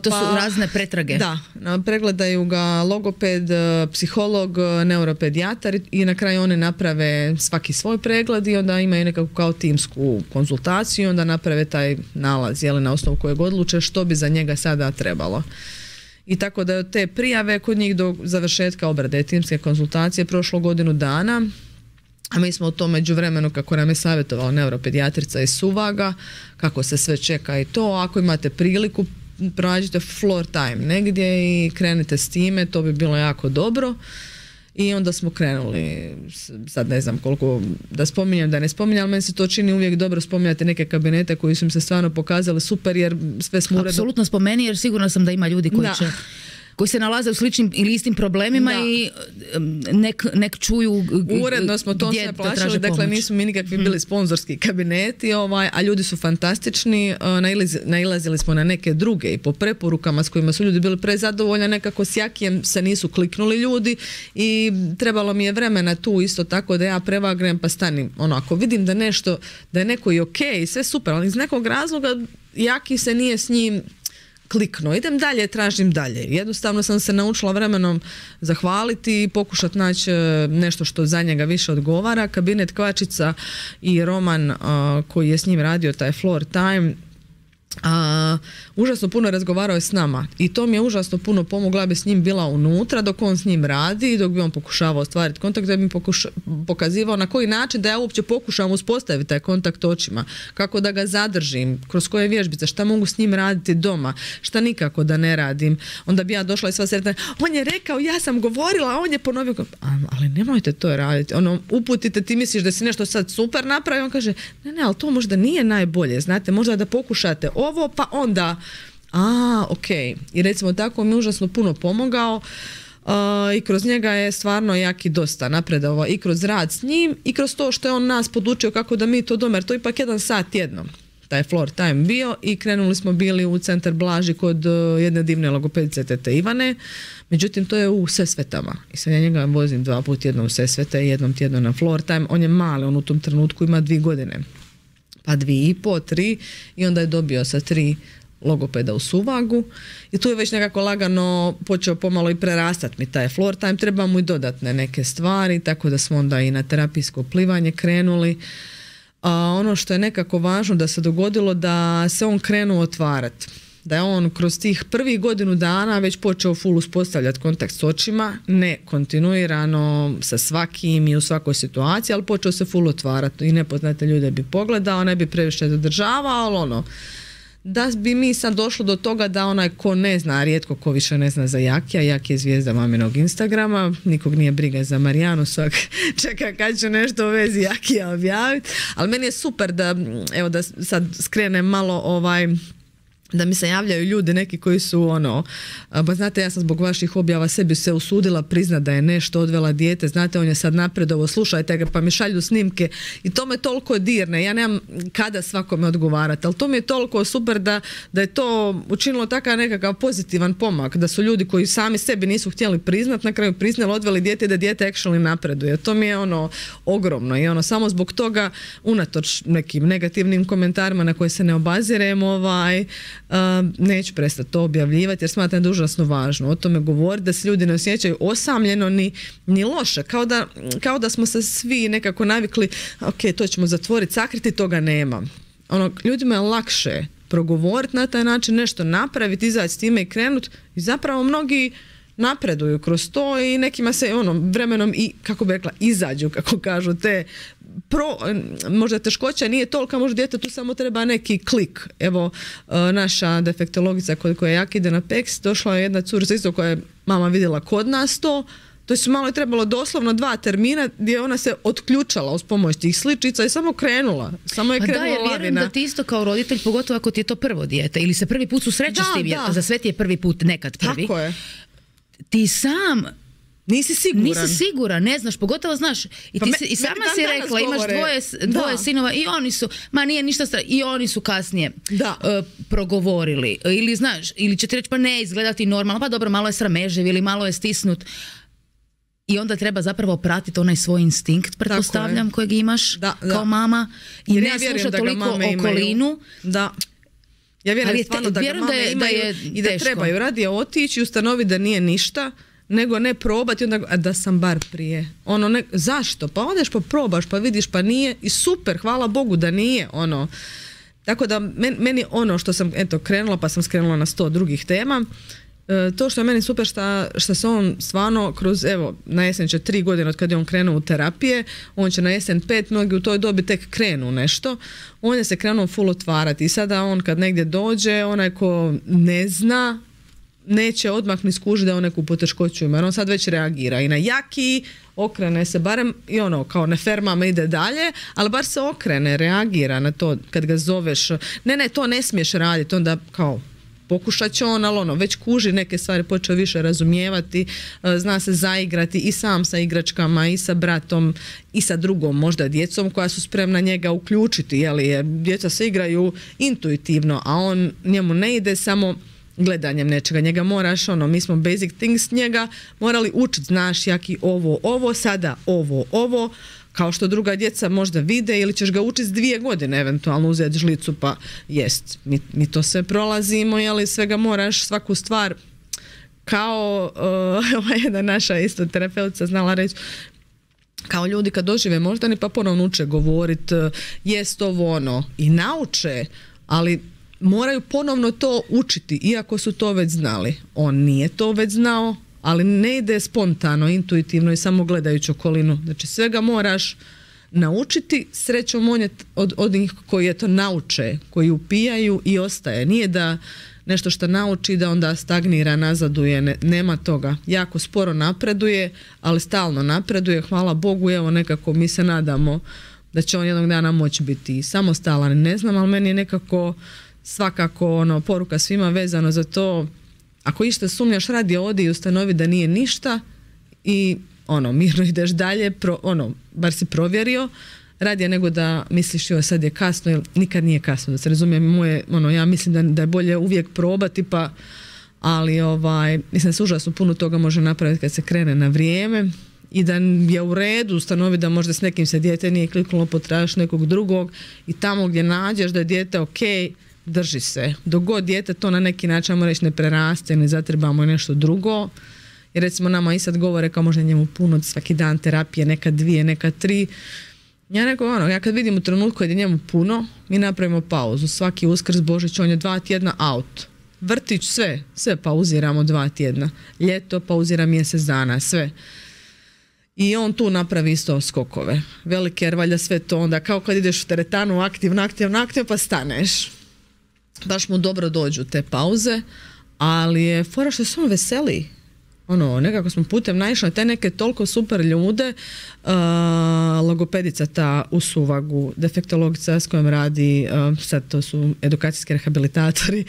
To su razne pretrage? Da, pregledaju ga logoped, psiholog, neuropedijatar i na kraju oni naprave svaki svoj pregled i onda imaju nekakvu kao timsku konzultaciju i onda naprave taj nalaz, na osnovu kojeg odluče što bi za njega sada trebalo. I tako da te prijave kod njih do završetka obrade timske konzultacije prošlo godinu dana. A mi smo u tom međuvremenu, kako nam je savjetovala neuropedijatrica iz Suvaga, kako se sve čeka i to, ako imate priliku, pronađite floor time negdje i krenite s time, to bi bilo jako dobro. I onda smo krenuli, sad ne znam koliko da spominjem, da ne spominjem, ali meni se to čini uvijek dobro spominjati neke kabinete koji su im se stvarno pokazali super jer sve smo uredno... Apsolutno spomeni jer sigurno sam da ima ljudi koji se nalaze u sličnim ili istim problemima i nek čuju uredno smo to sve plaćali, dakle nisu mi nikakvi bili sponzorski kabineti, a ljudi su fantastični, nailazili smo na neke druge i po preporukama s kojima su ljudi bili prezadovoljni, nekako s Jakijem se nisu kliknuli ljudi i trebalo mi je vremena tu isto tako da ja prevagnem pa stanim, ako vidim da je neko i ok, sve super, ali iz nekog razloga Jaki se nije s njim kliknuo, idem dalje, tražim dalje. Jednostavno sam se naučila vremenom zahvaliti i pokušati naći nešto što za njega više odgovara. Kabinet Kvačica i Roman koji je s njim radio taj Floor Time, užasno puno razgovarao je s nama i to mi je užasno puno pomoglo. Ja bi s njim bila unutra dok on s njim radi, dok bi on pokušavao ostvariti kontakt, da bi mi pokazivao na koji način da ja uopće pokušavam uspostaviti taj kontakt očima, kako da ga zadržim, kroz koje vježbice, šta mogu s njim raditi doma, šta nikako da ne radim. Onda bi ja došla i sva sretna, on je rekao, ja sam govorila, a on je ponovio, ali nemojte to raditi, uputite, ti misliš da si nešto sad super napravio, on kaže, ne, ali to možda nije najbolje, znate, možda da pokušate ovo, pa onda ok. I recimo tako mi je užasno puno pomogao i kroz njega je stvarno jak i dosta napredovao i kroz rad s njim i kroz to što je on nas podučio kako da mi to doma, jer to je ipak 1 sat tjedno taj Floor Time bio i krenuli smo bili u Centar Blaži kod jedne divne logopedice tete Ivane, međutim to je u Sesvetama i sad ja njega vozim 2 puta tjedno u Sesvete i 1 tjedno na Floor Time. On je mali, on u tom trenutku ima 2 godine, pa 2,5, 3 i onda je dobio sa 3 logopeda u Suvagu i tu je već nekako lagano počeo pomalo i prerastati mi taj Floor Time, treba mu i dodatne neke stvari, tako da smo onda i na terapijsko plivanje krenuli. Ono što je nekako važno da se dogodilo, da se on krenuo otvarati, da je on kroz tih prvih godinu dana već počeo full uspostavljati kontakt s očima, ne kontinuirano sa svakim i u svakoj situaciji, ali počeo se full otvarati i nepoznate ljude bi pogledao, ne bi previše zadržavao, ali da bi mi sad došlo do toga da onaj ko ne zna, rijetko ko više ne zna za Jakija, Jaki je zvijezda maminog Instagrama, nikog nije briga za Marijanu, svak čeka kad će nešto u vezi Jakija objaviti, ali meni je super da, evo da sad skrenem malo da mi se javljaju ljudi neki koji su pa znate, ja sam zbog vaših objava sebi se usudila priznat da je nešto odvela dijete, znate, on je sad napredovo, slušajte ga, pa mi šalju snimke i to me toliko dirne, ja nemam kada svakome odgovarati, ali to mi je toliko super da je to učinilo takav nekakav pozitivan pomak, da su ljudi koji sami sebi nisu htjeli priznat, na kraju priznali, odveli dijete i da dijete actually napreduje. To mi je ogromno i samo zbog toga, unatoč nekim negativnim komentarima na koje se ne obazirem, neću prestati to objavljivati jer smatram da je užasno važno o tome govoriti, da se ljudi ne osjećaju osamljeno ni loše, kao da smo se svi nekako navikli, ok, to ćemo zatvoriti, sakriti, toga nema. Ljudima je lakše progovoriti na taj način, nešto napraviti, izaći s time i krenuti i zapravo mnogi napreduju kroz to i nekima se vremenom i, kako bi rekla, izađu, kako kažu, te možda teškoća nije tolika, možda djetetu samo treba neki klik. Evo, naša defektologica koja jak ide na PEX, došla je jedna curica isto koja je mama vidjela kod nas to su malo je trebalo doslovno 2 termina gdje ona se otključala uz pomoć tih sličica i samo krenula. Samo je krenula lavina. Vjerujem da ti isto kao roditelj, pogotovo ako ti je to prvo dijete ili se prvi put susrećeš s tim, za sve ti je prvi put, nekad prvi. Tako je. Ti sam nisi siguran, ne znaš, pogotovo znaš i ti sama si rekla, imaš dvoje sinova i oni su, nije ništa i oni su kasnije progovorili ili znaš, ili će ti reći pa ne izgledati normalno, pa dobro, malo je srameživ ili malo je stisnut i onda treba zapravo pratiti onaj svoj instinkt, pretpostavljam, kojeg imaš kao mama i ne slušati toliko okolinu. Da. Ja vjerujem stvarno da ga mame imaju i da trebaju radije otići i ustanoviti da nije ništa, nego ne probati onda da sam bar prije. Zašto? Pa odeš pa probaš pa vidiš pa nije i super, hvala Bogu da nije. Tako da meni što sam krenula pa sam skrenula na 100 drugih tema, to što je meni super što se on stvarno kroz, evo, na jesen će 3 godine od kad je on krenuo u terapije, on će na jesen 5, mnogi u toj dobi tek krenu nešto, on je se krenuo full otvarati i sada on kad negdje dođe, onaj ko ne zna, neće odmah ni skužiti da on neku poteškoću ima, jer on sad već reagira i na Jaki, okrene se barem i kao ne fermama ide dalje, ali bar se okrene, reagira na to kad ga zoveš, ne, to ne smiješ raditi, onda kao pokušat će on, ali već kuži neke stvari, počeo više razumijevati, zna se zaigrati i sam sa igračkama i sa bratom i sa drugom možda djecom koja su spremna njega uključiti, jer djeca se igraju intuitivno, a njemu ne ide samo gledanjem nečega, njega moraš, mi smo basic things njega morali učiti, znaš Jaki ovo, sada ovo, kao što druga djeca možda vide, ili ćeš ga učiti 2 godine, eventualno uzeti žlicu pa jest. Mi to sve prolazimo, jeli svega moraš svaku stvar, kao jedna naša isto terapeutica znala reći, kao ljudi kad dožive moždani pa ponovno uče govorit, jest ovo ono, i nauče, ali moraju ponovno to učiti, iako su to već znali. On nije to već znao, ali ne ide spontano, intuitivno i samo gledajući okolinu. Znači svega moraš naučiti, srećom on je od njih koji je to nauče, koji upijaju i ostaje. Nije da nešto što nauči da onda stagnira, nazaduje, nema toga. Jako sporo napreduje, ali stalno napreduje, hvala Bogu, evo nekako mi se nadamo da će on jednog dana moći biti samostalan. Ne znam, ali meni je nekako svakako poruka svima vezano za to, ako išta sumnjaš, radi odi i ustanovi da nije ništa i mirno ideš dalje, bar si provjerio, radije nego da misliš joj sad je kasno, jer nikad nije kasno, da se razumijem, ja mislim da je bolje uvijek probati, ali mislim da se užasno puno toga može napraviti kad se krene na vrijeme i da je u redu ustanovi da možda s nekim se dijete nije kliknulo, potražiš nekog drugog i tamo gdje nađeš da je dijete ok, drži se. Dok god dijete to na neki način, ajmo reći, ne preraste, ne zatrebamo nešto drugo. Jer recimo nama i sad govore kao možda njemu puno svaki dan terapije, nekad 2, nekad 3. Ja rekao, ja kad vidim u trenutku kad je njemu puno, mi napravimo pauzu. Svaki Uskrs, Božić, on je 2 tjedna out. Vrtić, sve pauziramo 2 tjedna. Ljeto pauzira mjesec dana, sve. I on tu napravi isto skokove. Velike, jer valjda sve to onda, kao kad ideš u teretanu aktivno, pa staneš. Baš mu dobro dođu te pauze, ali je fora što se on veseli. Nekako smo putem naišli na te neke toliko super ljude, logopedica ta u Suvagu, defektologica s kojom radi, sad to su edukacijski rehabilitatori,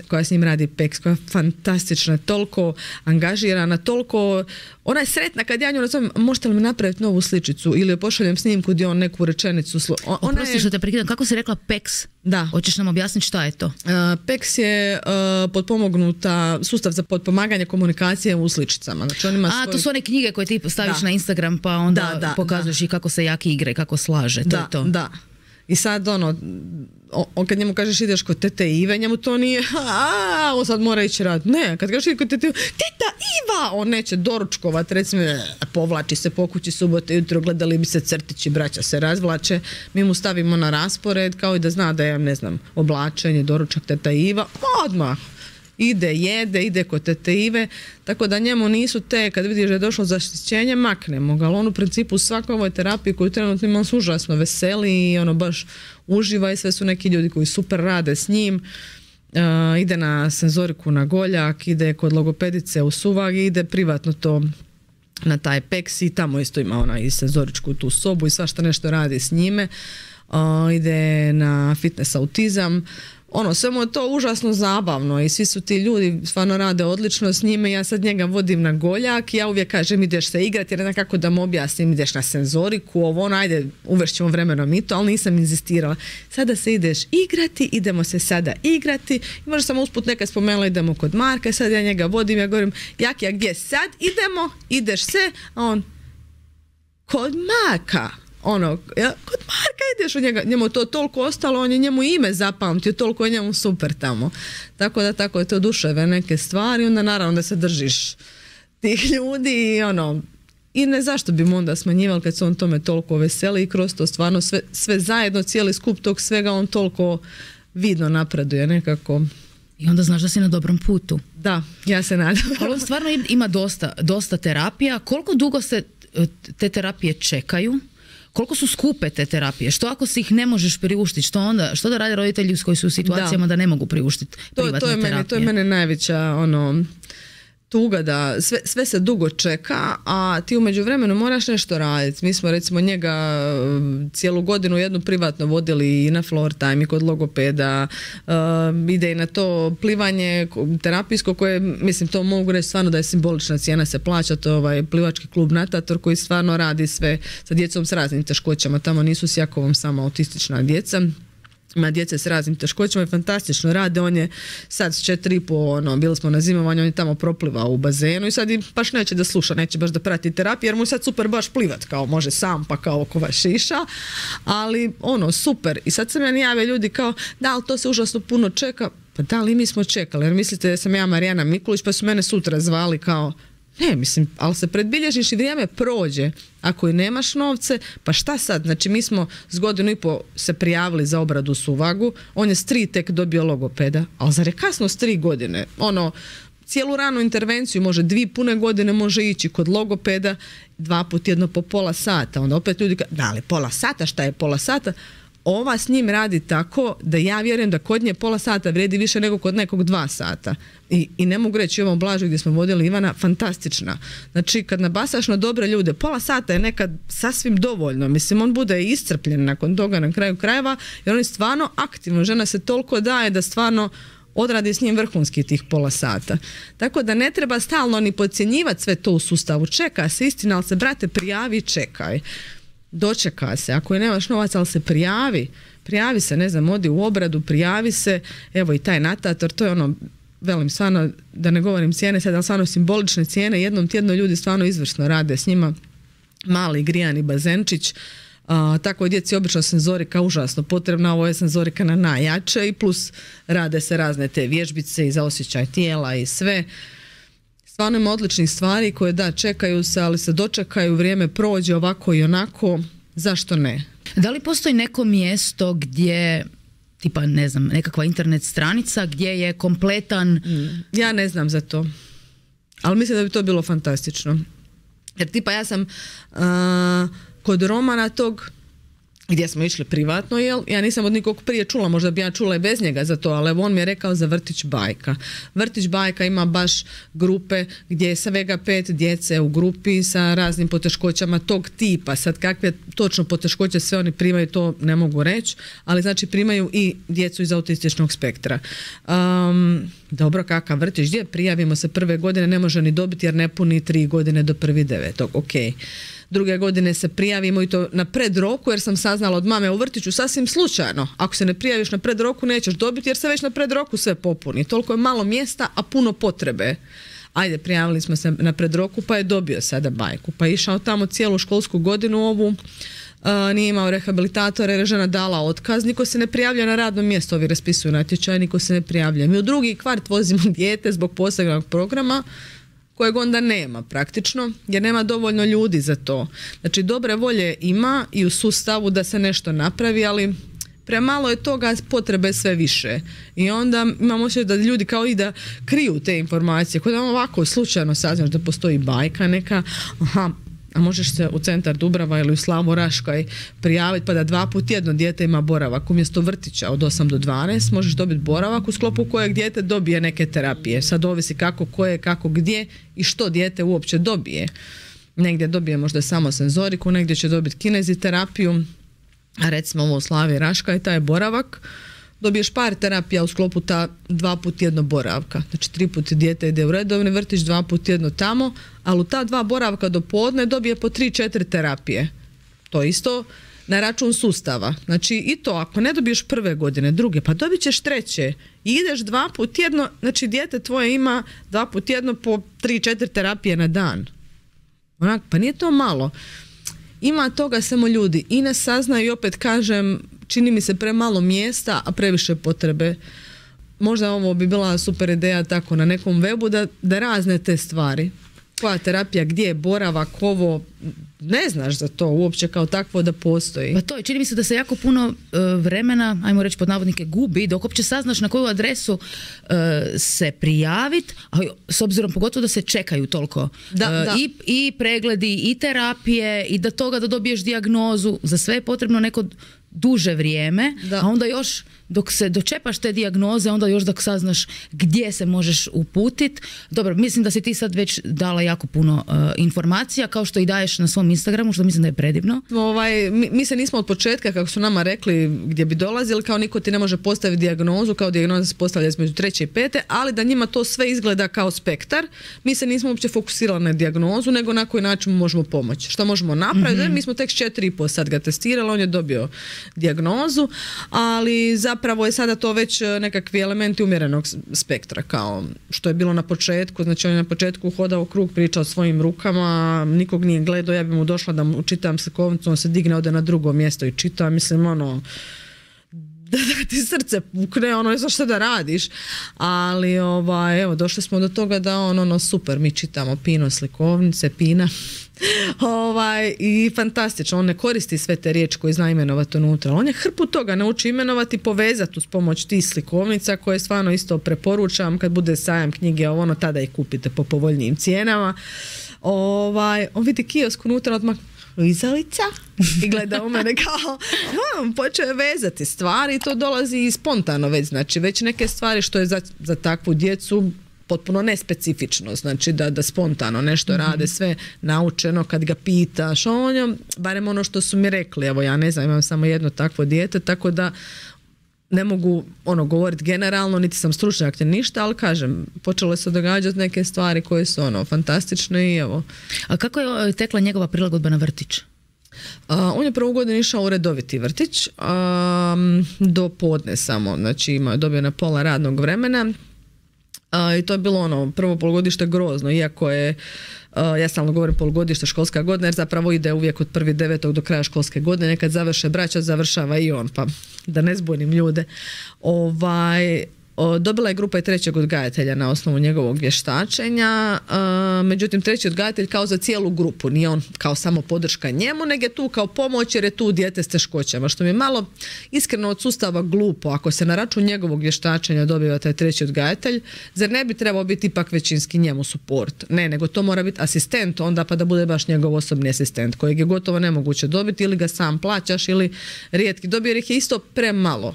koja s njim radi PEX, koja je fantastična, toliko angažirana, toliko, ona je sretna kad ja nju nazovem, možete li mi napraviti novu sličicu ili joj pošaljem snimku gdje on neku rečenicu. Oprosti što te prekidam, kako si rekla PEX? Da. Hoćeš nam objasniti šta je to? PEX je potpomognuta sustav za potpomaganje komunikacije u sličicama. Znači on ima to su one knjige koje ti staviš na Instagram pa onda pokazuješ i kako se jaki igre, kako slaže. To je to. Da. I sad on kad njemu kažeš ideš kod tete Ive, njemu to nije on sad mora ići rad. Ne, kad kažeš kod tete Ive, teta Iva, on neće doručkovat, recimo povlači se po kući subote jutro, gledali bi se crtići, braća se razvlače, mi mu stavimo na raspored kao i da zna da je, ne znam, oblačenje, doručak, teta Iva, odmah ide kod tete Ive, tako da njemu nisu te, kad vidiš da je došlo zaštićenje, maknemo ga, ali on u principu u svakoj ovoj terapiji koju trenutno ima, on se užasno veseli i baš uživa i sve su neki ljudi koji super rade s njim. Ide na senzoriku na Goljak, ide kod logopedice u Suvag i ide privatno to na taj PEX i tamo isto ima ona i senzoričku tu sobu i svašta nešto radi s njime. Ide na fitness autizam. Sve mu je to užasno zabavno i svi su ti ljudi stvarno rade odlično s njime. Ja sad njega vodim na Goljak i ja uvijek kažem ideš se igrati, jer nekako da mu objasnim, ideš na senzoriku, ajde uvešćemo vremenom i to, ali nisam inzistirala. Sada se ideš igrati, idemo se sada igrati i možda sam usput nekad spomenula idemo kod Marka, sad ja njega vodim, ja govorim Jaki, a gdje sad idemo, ideš se, a on kod Marka. Kod Marka ideš u njega, njemu to toliko ostalo, on je njemu ime zapamtio, toliko je njemu super tamo. Tako je to duševe neke stvari, onda naravno da se držiš tih ljudi i ne zašto bi mu onda smanjivali kad se on tome toliko veseli i kroz to stvarno sve zajedno, cijeli skup tog svega on toliko vidno napreduje nekako. I onda znaš da si na dobrom putu. Da, ja se nadam. Ali on stvarno ima dosta terapija. Koliko dugo se te terapije čekaju? Koliko su skupe te terapije? Što ako si ih ne možeš priuštiti? Što da rade roditelji koji su u situacijama da ne mogu priuštiti privatne terapije? To je mene najveća tuga da sve se dugo čeka, a ti u međuvremenu moraš nešto raditi. Mi smo recimo njega cijelu godinu jednu privatno vodili i na floor time i kod logopeda, ide i na to plivanje terapijsko koje, mislim, to mogu reći stvarno da je simbolična cijena, se plaća, to je plivački klub Natator koji stvarno radi sve sa djecom s raznim teškoćama, tamo nisu s Jakovom samo autistična djeca. ima djece s raznim teškoćama i fantastično rade. On je sad s 4,5, bili smo na zimovanju, on je tamo proplivao u bazenu i sad baš neće da sluša, neće baš da prati terapiju jer mu je sad super baš plivat, kao može sam pa kao oko vas šiša, ali super. I sad se meni jave ljudi kao da, ali to se užasno puno čeka. Pa da, ali mi smo čekali, jer mislite da sam ja Marijana Mikulić pa su mene sutra zvali kao ne, mislim, ali se predbilježiš i vrijeme prođe. Ako i nemaš novce, pa šta sad? Znači, mi smo s 1,5 godine se prijavili za obradu suvagu, on je s 3 tek dobio logopeda, ali zar je kasno s 3 godine? Cijelu ranu intervenciju može 2 pune godine može ići kod logopeda 2 puta jedno po pola sata. Onda opet ljudi da, ali pola sata, šta je pola sata? Ova s njim radi tako da ja vjerujem da kod nje pola sata vrijedi više nego kod nekog 2 sata. I ne mogu reći ovom Blažu gdje smo vodili Ivana, fantastična. Znači kad nabasaš na dobre ljude, pola sata je nekad sasvim dovoljno. Mislim, on bude iscrpljen nakon toga na kraju krajeva jer on je stvarno aktivno. Žena se toliko daje da stvarno odradi s njim vrhunski tih pola sata. Tako da ne treba stalno ni podcjenjivati sve to u sustavu. Čeka se, istina, ali se brate prijavi i čekaj. Dočeka se, ako je nemaš novac, ali se prijavi se, ne znam, odi u obradu, prijavi se, evo i taj natator, to je velim stvarno, da ne govorim cijene sad, ali stvarno simbolične cijene, jednom tjedno ljudi stvarno izvrsno rade s njima, mali grijani bazenčić, tako je djeci obično senzorika užasno potrebna, ovo je senzorika na najjače i plus rade se razne te vježbice i za osjećaj tijela i sve. Stvarno ima odličnih stvari koje da, čekaju se, ali se dočekaju, vrijeme prođe ovako i onako, zašto ne? Da li postoji neko mjesto gdje, tipa ne znam, nekakva internet stranica gdje je kompletan... Ja ne znam za to, ali mislim da bi to bilo fantastično. Jer tipa ja sam kod Romana tog, gdje smo išli privatno, ja nisam od nikog prije čula, možda bi ja čula i bez njega za to, ali on mi je rekao za Vrtić Bajka. Vrtić Bajka ima baš grupe gdje je svega 5 djece u grupi sa raznim poteškoćama tog tipa. Sad kakve točno poteškoće sve oni primaju, to ne mogu reći, ali znači primaju i djecu iz autističnog spektra. Dobro, kakav vrtić, gdje prijavimo se prve godine, ne može ni dobiti jer ne puni 3 godine do 1.9. Ok. Druge godine se prijavimo i to na predroku jer sam saznala od mame u vrtiću sasvim slučajno. Ako se ne prijaviš na predroku nećeš dobiti jer se već na predroku sve popuni. Toliko je malo mjesta, a puno potrebe. Ajde, prijavili smo se na predroku pa je dobio sada bajku. Pa je išao tamo cijelu školsku godinu ovu, nije imao rehabilitatore jer je žena dala otkaz, niko se ne prijavlja na radno mjesto, ovi raspisuju natječaj, niko se ne prijavlja. Mi u drugi kvart vozimo dijete zbog posebnog programa kojeg onda nema praktično, jer nema dovoljno ljudi za to. Znači dobre volje ima i u sustavu da se nešto napravi, ali premalo je toga, potrebe sve više. I onda imamo osjećaj da ljudi kao i da kriju te informacije. Kod ovako slučajno saznaš da postoji bajka neka, a možeš se u centar Dubrava ili u Slavu Raškaj prijaviti pa da 2 puta jedno dijete ima boravak umjesto vrtića od 8 do 12 možeš dobiti boravak u sklopu kojeg dijete dobije neke terapije. Sad ovisi kako, koje, kako, gdje i što dijete uopće dobije. Negdje dobije možda samo senzoriku, negdje će dobiti kineziterapiju, a recimo ovo u Slavi Raškaj taj boravak dobiješ par terapija u sklopu ta 2 puta jedno boravka. Znači 3 puta dijete ide u redovni vrtić, 2 puta jedno tamo, ali u ta 2 boravka do podne dobije po 3-4 terapije. To isto na račun sustava. Znači i to ako ne dobiješ prve godine, druge, pa dobit ćeš treće i ideš 2 puta tjedno, znači dijete tvoje ima 2 puta tjedno po 3-4 terapije na dan. Onak, pa nije to malo. Ima toga samo ljudi i ne saznaju i opet kažem, čini mi se premalo mjesta, a previše potrebe. Možda ovo bi bila super ideja tako na nekom webu da razne te stvari. Koja terapija, gdje je boravak, ovo, ne znaš za to uopće kao takvo da postoji. Pa to je, čini mi se da se jako puno vremena, ajmo reći pod navodnike, gubi dok uopće saznaš na koju adresu se prijaviti, a s obzirom pogotovo da se čekaju toliko. Da. I pregledi, i terapije, i da dobiješ dijagnozu, za sve je potrebno neko duže vrijeme, a onda još dok se dočepaš te dijagnoze, onda još dok saznaš gdje se možeš uputiti. Dobro, mislim da si ti sad već dala jako puno informacija, kao što i daješ na svom Instagramu, što mislim da je predivno. Mi se nismo od početka, kako su nama rekli gdje bi dolazili, kao niko ti ne može postaviti dijagnozu, kao dijagnoza se postavlja između 3. i 5. ali da njima to sve izgleda kao spektar. Mi se nismo uopće fokusirali na dijagnozu, nego na koji način možemo pomoći. Što možemo napraviti? Mi smo tek 4,5 sad ga testirali, on je dobio dijagnozu, ali zapravo je sada to već nekakvi elementi umjerenog spektra, kao što je bilo na početku. Znači on je na početku hodao u krug, pričao svojim rukama, nikog nije gledao, ja bi mu došla da mu čitam slikovnicu, on se digne, ode na drugo mjesto i čita, mislim da ti srce pukne, ne znaš što da radiš, ali evo, došli smo do toga da super, mi čitamo Pino slikovnice, Pina, i fantastično, on ne koristi sve te riječi koje zna imenovati unutra, on je hrpu toga nauči imenovati i povezati uz pomoć tih slikovnica koje stvarno isto preporučam kad bude sajam knjige, tada ih kupite po povoljnijim cijenama. On vidi kiosk unutra, odmah Lizalica i gleda u mene kao počeo vezati stvari i to dolazi spontano već, znači već neke stvari što je za takvu djecu potpuno nespecifično, znači da spontano nešto rade, sve naučeno kad ga pitaš, barem ono što su mi rekli, evo ja ne znam, imam samo jedno takvo dijete, tako da ne mogu govoriti generalno, niti sam stručnjak ni ništa, ali kažem, počelo se događati neke stvari koje su fantastične i evo. A kako je tekla njegova prilagodba na vrtić? On je prvu godinu išao u redoviti vrtić, do podne samo, znači dobio na pola radnog vremena. I to je bilo prvo polugodište grozno, iako je, ja stalno govorim polugodište, školska godina, jer zapravo ide uvijek od 1.9. do kraja školske godine, kad završe braća, završava i on, pa da ne zbunim ljude. Dobila je grupa i 3. odgajatelja na osnovu njegovog vještačenja, međutim 3. odgajatelj kao za cijelu grupu, nije on kao samo podrška njemu, nego je tu kao pomoć jer je tu dijete s teškoćama, što mi je malo iskreno od sustava glupo, ako se na račun njegovog vještačenja dobiva taj 3. odgajatelj, zar ne bi trebao biti ipak većinski njemu suport? Ne, nego to mora biti asistent onda, pa da bude baš njegov osobni asistent, kojeg je gotovo nemoguće dobiti, ili ga sam plaćaš ili rijetki dobije, jer ih je isto premalo.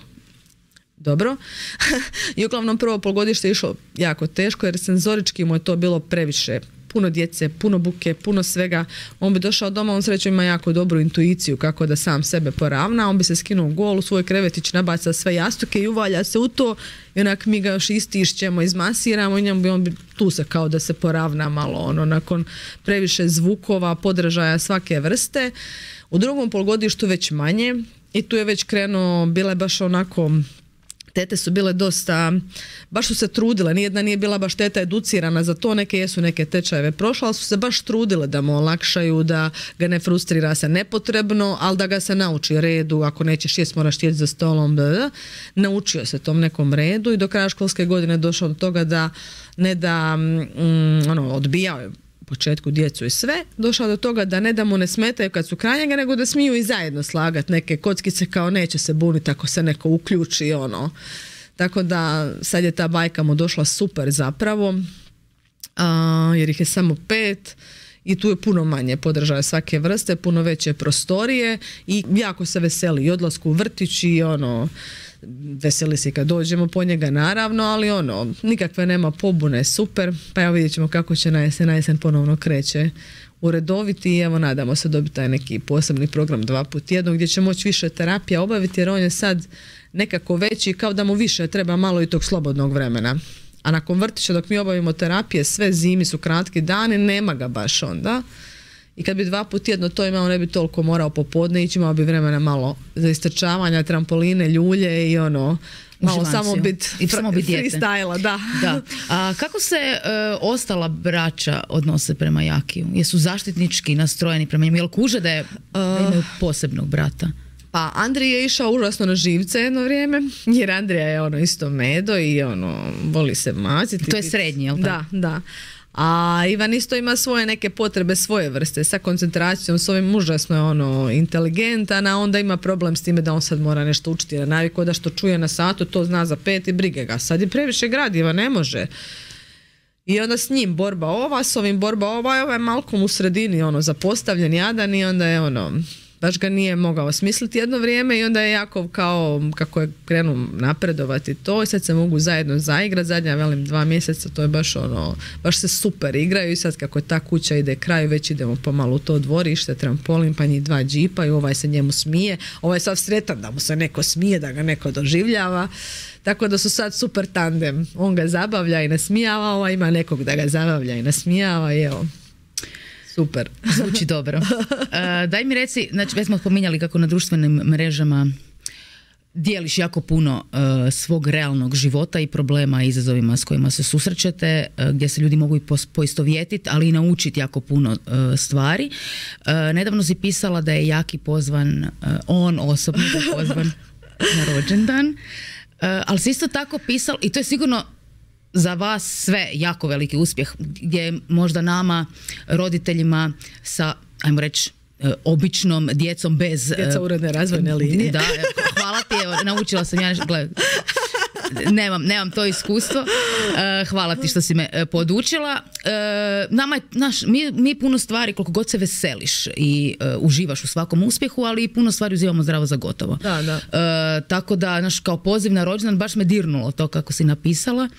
Dobro. I uglavnom prvo polugodište je išlo jako teško jer senzorički mu je to bilo previše. Puno djece, puno buke, puno svega. On bi došao doma, on srećom ima jako dobru intuiciju kako da sam sebe poravna. On bi se skinuo gol u svoj krevetić, nabaca sve jastuke i uvalja se u to. I onak mi ga još istišćemo, izmasiramo i on bi tu se kao da se poravna malo. Nakon previše zvukova, podržaja svake vrste. U drugom polugodištu već manje i tu je već krenuo, bila je baš onako... Tete su bile dosta, baš su se trudile, nijedna nije bila baš teta educirana za to, neke tečajeve prošla, ali su se baš trudile da mu olakšaju, da ga ne frustrira se nepotrebno, ali da ga se nauči redu, ako nećeš jest moraš sjeti za stolom, naučio se tom nekom redu i do kraja školske godine došao do toga da odbijao je u početku djecu i sve, došao do toga da ne da mu ne smetaju kad su kraj njega, nego da smiju i zajedno slagati neke kockice, kao neće se buniti ako se neko uključi, Tako da sad je ta bajka mu došla super zapravo, jer ih je samo 5 i tu je puno manje podržaja svake vrste, puno veće prostorije i jako se veseli i odlasku u vrtić i veseli se kad dođemo po njega naravno, ali nikakve nema pobune, super, pa evo vidjet ćemo kako će na jesen ponovno kreće u redoviti i evo nadamo se dobiti taj neki posebni program 2 puta tjedno gdje će moći više terapija obaviti jer on je sad nekako veći, kao da mu više treba malo i tog slobodnog vremena. A nakon vrtića dok mi obavimo terapije, sve zimi su kratki dani, nema ga baš onda. I kad bi 2 puta tjedno to imao, ne bi toliko morao popodne ići, imao bi vremena malo za istrčavanja, trampoline, ljulje i malo samo biti freestyle, da. A kako se ostala braća odnose prema Jakiju? Jesu zaštitnički nastrojeni prema njemu? Jel kuže da imaju posebnog brata? Pa Andrij je išao užasno na živce jedno vrijeme, jer Andrija je isto medo i voli se maziti. To je srednji, jel tako? Da. A Ivan isto ima svoje neke potrebe, svoje vrste, sa koncentracijom, s ovim užasno je inteligentan, a onda ima problem s time da on sad mora nešto učiti na naviku, da što čuje na satu, to zna za 5 i brige ga. Sad je previše gradiva, ne može. I onda s njim borba ova, s ovim borba ova, ovaj je malkom u sredini zapostavljen, jadan i onda je baš ga nije mogao smisliti jedno vrijeme i onda je jako kao kako je krenuo napredovati to i sad se mogu zajedno zaigrati, zadnja velim 2 mjeseca, to je baš ono, baš se super igraju i sad kako je ta kuća ide kraju, već idemo pomalo u to dvorište, trampolin, pa njih 2 džipa i ovaj se njemu smije, ovaj je sav sretan da mu se neko smije, da ga neko doživljava, tako da su sad super tandem, on ga zabavlja i nasmijava, ovaj ima nekog da ga zabavlja i nasmijava i evo. Super. Zvuči dobro. Daj mi reci, znači već smo spominjali kako na društvenim mrežama dijeliš jako puno svog realnog života i problema i izazovima s kojima se susrećete, gdje se ljudi mogu i poistovjetiti, ali i naučiti jako puno stvari. Nedavno si pisala da je Jaki pozvan, on osobno je pozvan na rođendan, ali si isto tako pisala, i to je sigurno za vas sve jako veliki uspjeh, gdje možda nama, roditeljima sa, ajmo reći, običnom djecom bez... Djeca uredne razvojne linije. Da, hvala ti, evo, naučila sam ja nešto, nemam to iskustvo. Hvala ti što si me podučila. Nama je, mi puno stvari, koliko god se veseliš i uživaš u svakom uspjehu, ali i puno stvari uzimamo zdravo za gotovo. Da. Tako da, kao poziv na rođendan, baš me dirnulo to kako si napisala.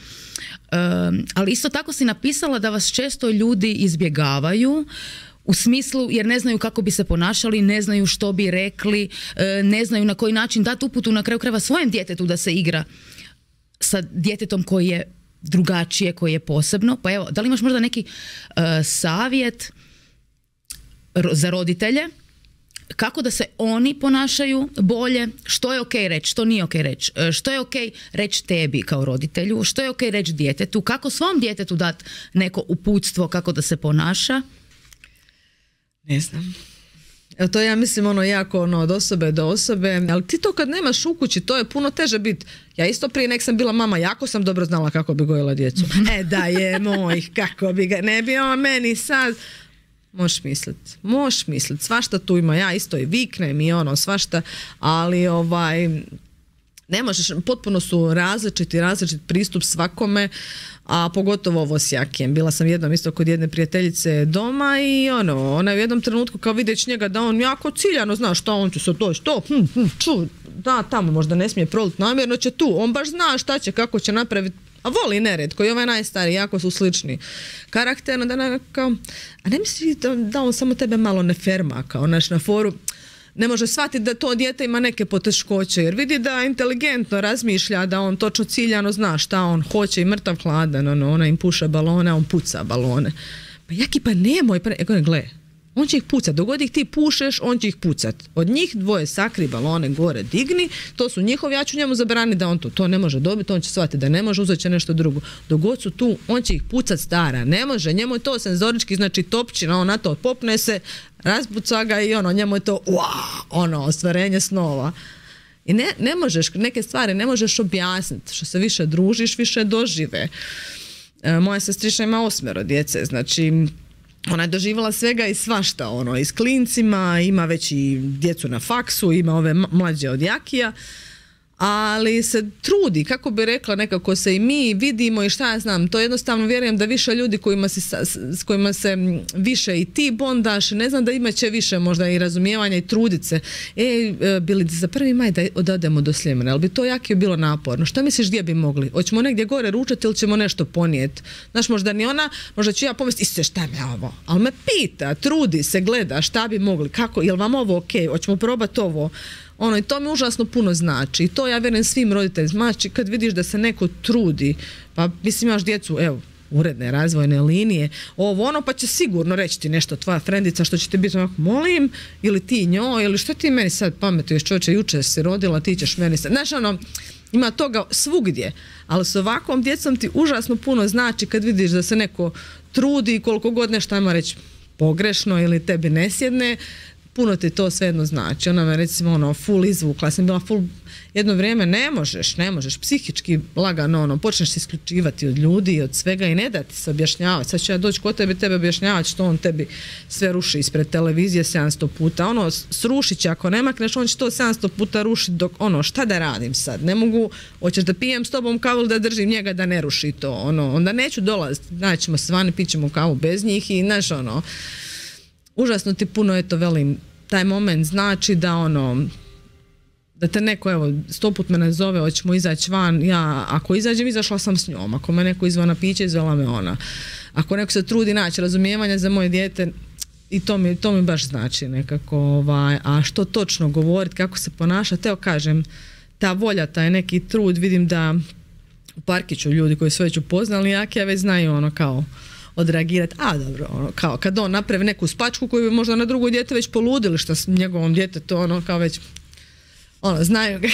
Ali isto tako si napisala da vas često ljudi izbjegavaju u smislu jer ne znaju kako bi se ponašali, ne znaju što bi rekli, ne znaju na koji način dati uputu na kraju krajeva svojem djetetu da se igra sa djetetom koji je drugačije, koji je posebno. Pa evo, da li imaš možda neki savjet za roditelje kako da se oni ponašaju bolje, što je ok reći, što nije ok reći, što je ok reći tebi kao roditelju, što je ok reći djetetu, kako svom djetetu dati neko uputstvo kako da se ponaša? Ne znam. Evo to ja mislim jako od osobe do osobe, ali ti to kad nemaš u kući, to je puno teže biti. Ja isto prije nek sam bila mama, jako sam dobro znala kako bi gojila djecu. Da je mojih, kako bi ga, ne bi on meni sad... Možeš misliti, svašta tu ima, ja isto i viknem i svašta, ali ne možeš, potpuno su različit pristup svakome, a pogotovo ovo s Jakijem. Bila sam jednom isto kod jedne prijateljice doma i ona je u jednom trenutku kao vidjeć njega da on jako ciljano zna šta on će se doći, da tamo možda ne smije proliti, namjerno će tu, on baš zna šta će, kako će napraviti, a voli nered, koji je ovaj najstariji, jako su slični karakterno, da kao, a ne misli da on samo tebe malo ne ferma, kao na foru, ne može shvatiti da to dijete ima neke poteškoće, jer vidi da inteligentno razmišlja, da on točno ciljano zna šta on hoće i mrtav hladan, ona im puša balone, a on puca balone. Pa Jaki, pa nemoj, gle, on će ih pucat, dogod ih ti pušeš, on će ih pucat. Od njih 2 sakri balone gore, digni, to su njihovi, ja ću njemu zabraniti da on to ne može dobiti, on će shvatiti da ne može, uzet će nešto drugo. Dogod su tu, on će ih pucat stara, ne može, njemu je to senzorički, znači topčina, on na to popne se, razbuca ga i njemu je to ostvarenje snova. I ne možeš, neke stvari ne možeš objasniti, što se više družiš, više dožive. Moja sestrična ima 8 djece, znači ona je doživjela svega i svašta, i s klincima, ima već i djecu na faksu, ima ove mlađe od Jakija, ali se trudi, kako bi rekla, nekako se i mi vidimo i šta ja znam, to jednostavno vjerujem da više ljudi s kojima se više i ti bondaš, ne znam da imat će više možda i razumijevanja i trudit se. Bili za 1. maj da odemo do Sljemena, ali bi to Jakiju bilo naporno. Šta misliš gdje bi mogli? Hoćemo negdje gore ručati ili ćemo nešto ponijeti? Znaš, možda ni ona, možda ću ja pomisliti, šta mi je ovo? Ali me pita, trudi se, gleda šta bi mogli, kako, jel vam ovo ok, hoćemo probati ovo? I to mi užasno puno znači i to ja vjerujem svim roditeljima, znači kad vidiš da se neko trudi, pa mislim imaš djecu, evo, uredne razvojne linije, pa će sigurno reći ti nešto tvoja frendica što će ti biti onako, molim, ili ti njoj, ili što ti meni sad pametuješ, čovječe, jučer si rodila, ti ćeš meni sad, znaš ima toga svugdje, ali s ovakvom djecom ti užasno puno znači kad vidiš da se neko trudi, koliko god nešto ajmo reći pogrešno ili tebi ne sjedne, puno ti to svejedno znači. Ona me recimo full izvukla, sam bila full jedno vrijeme, ne možeš, psihički lagano, počneš se isključivati od ljudi i od svega i ne da ti se objašnjavati. Sad ću ja doći kod tebe objašnjavati što on tebi sve ruši ispred televizije 700 puta. Srušit će, ako ne makneš, on će to 700 puta rušiti dok, šta da radim sad? Ne mogu, hoćeš da pijem s tobom kavu ili da držim njega da ne ruši to, onda neću dolaziti, naćemo se vani, pićemo kavu bez njih i užasno ti puno, velim, taj moment znači da da te neko, evo, 100 put me nazove, hoćemo izaći van, ja ako izađem, izašla sam s njom, ako me neko izvana piće, izvala me ona, ako neko se trudi naći razumijevanje za moje dijete, i to mi baš znači nekako, a što točno govoriti, kako se ponašati, evo kažem, ta volja, taj neki trud, vidim da u parkiću ljudi koji su već upoznali ja već znaju kao odreagirati, dobro, kao kad on napravi neku spačku koju bi možda na drugo dijete već poludili, što s njegovom djetetu kao već znaju ga.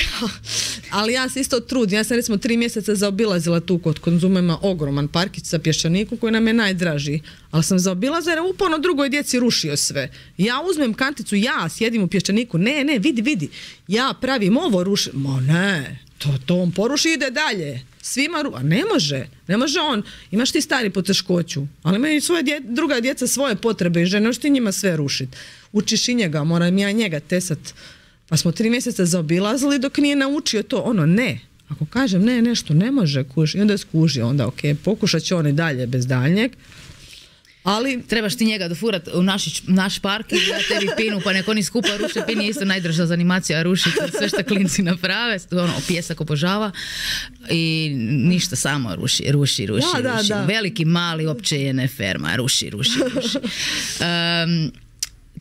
Ali ja se isto trudim. Ja sam recimo 3 mjeseca zaobilazila tu kod Konzumema ogroman parkić sa pješčanikom koji nam je najdraži. Ali sam zaobilazila jer uporno drugoj djeci rušio sve. Ja uzmem kanticu, ja sjedim u pješčaniku. Ne, vidi. Ja pravim ovo, rušim. Ne, to on poruši i ide dalje. Svima a ne može on. Imaš ti stari poteškoću, ali imaju druga djeca svoje potrebe i žene, možeš ti njima sve rušiti. Učiš i njega, moram ja njega tesat. Pa smo 3 mjeseca zaobilazili dok nije naučio to. Ne. Ako kažem ne, nešto ne može kuži, i onda skuži, onda ok, pokušat će on i dalje bez daljnjeg. Ali trebaš ti njega dofurat u naš park i da tebi pinu, pa neko oni skupa ruše. Pin je isto najdrža za animacija, rušiti sve što klinci naprave, pjesak obožava i ništa, samo ruši. Da. Veliki, mali, uopće je ne ferma, ruši.